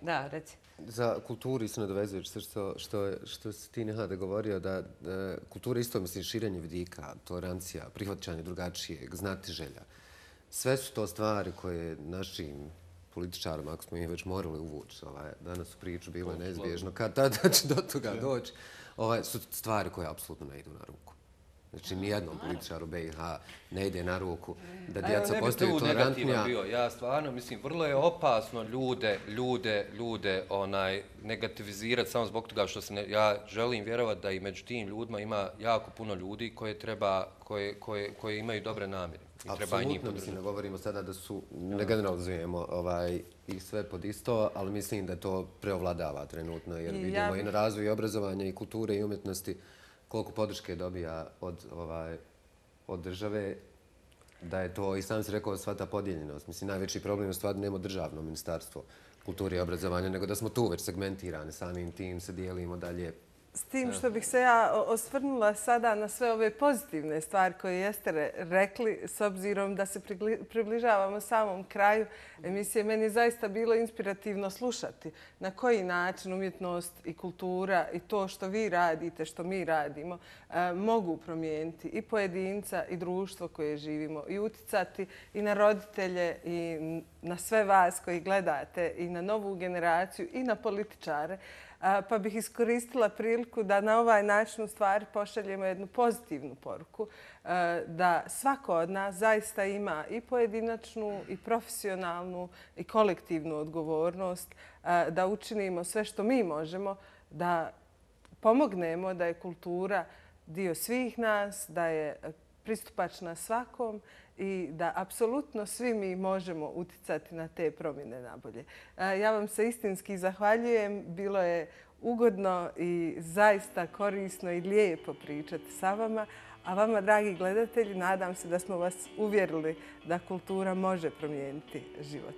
Da, reci. Za kulturu isto nadovezujući se što si ti Nehade govorio, da kultura isto misli širenje vidika, tolerancija, prihvaćanje drugačijeg, znatiželja. Sve su to stvari koje našim političarima, ako smo ih već morali uvući danas u priču, bilo je neizbježno, kada će do toga doći, su stvari koje apsolutno ne idu na ruku. Znači, nijednom političaru BiH ne ide na ruku da djeca postaju tolerantnija. Ja stvarno mislim, vrlo je opasno ljude negativizirati samo zbog toga što ja želim vjerovati da i među tim ljudima ima jako puno ljudi koje imaju dobre namjere. Apsolutno, mislim, ne govorimo sada da su, ne generalizujemo ih sve pod isto, ali mislim da to preovladava trenutno, jer vidimo i na razvoju obrazovanja i kulture i umjetnosti koliko podrške dobija od države, da je to, i sam si rekao, sva ta podijeljenost. Mislim, najveći problem je stvarno nema državno ministarstvo kulture i obrazovanja, nego da smo tu već segmentirani, samim tim se dijelimo dalje. S tim što bih se ja osvrnula sada na sve ove pozitivne stvari koje jeste rekli, s obzirom da se približavamo samom kraju emisije, meni je zaista bilo inspirativno slušati na koji način umjetnost i kultura i to što vi radite, što mi radimo, mogu promijeniti i pojedinca i društvo koje živimo i uticati i na roditelje i na sve vas koji gledate i na novu generaciju i na političare. Pa bih iskoristila priliku da na ovaj način u stvari pošaljemo jednu pozitivnu poruku, da svako od nas zaista ima i pojedinačnu i profesionalnu i kolektivnu odgovornost, da učinimo sve što mi možemo, da pomognemo da je kultura dio svih nas, da je pristupačna svakom i da apsolutno svi mi možemo uticati na te promjene nabolje. Ja vam se istinski zahvaljujem. Bilo je ugodno i zaista korisno i lijepo pričati sa vama. A vama, dragi gledatelji, nadam se da smo vas uvjerili da kultura može promijeniti život.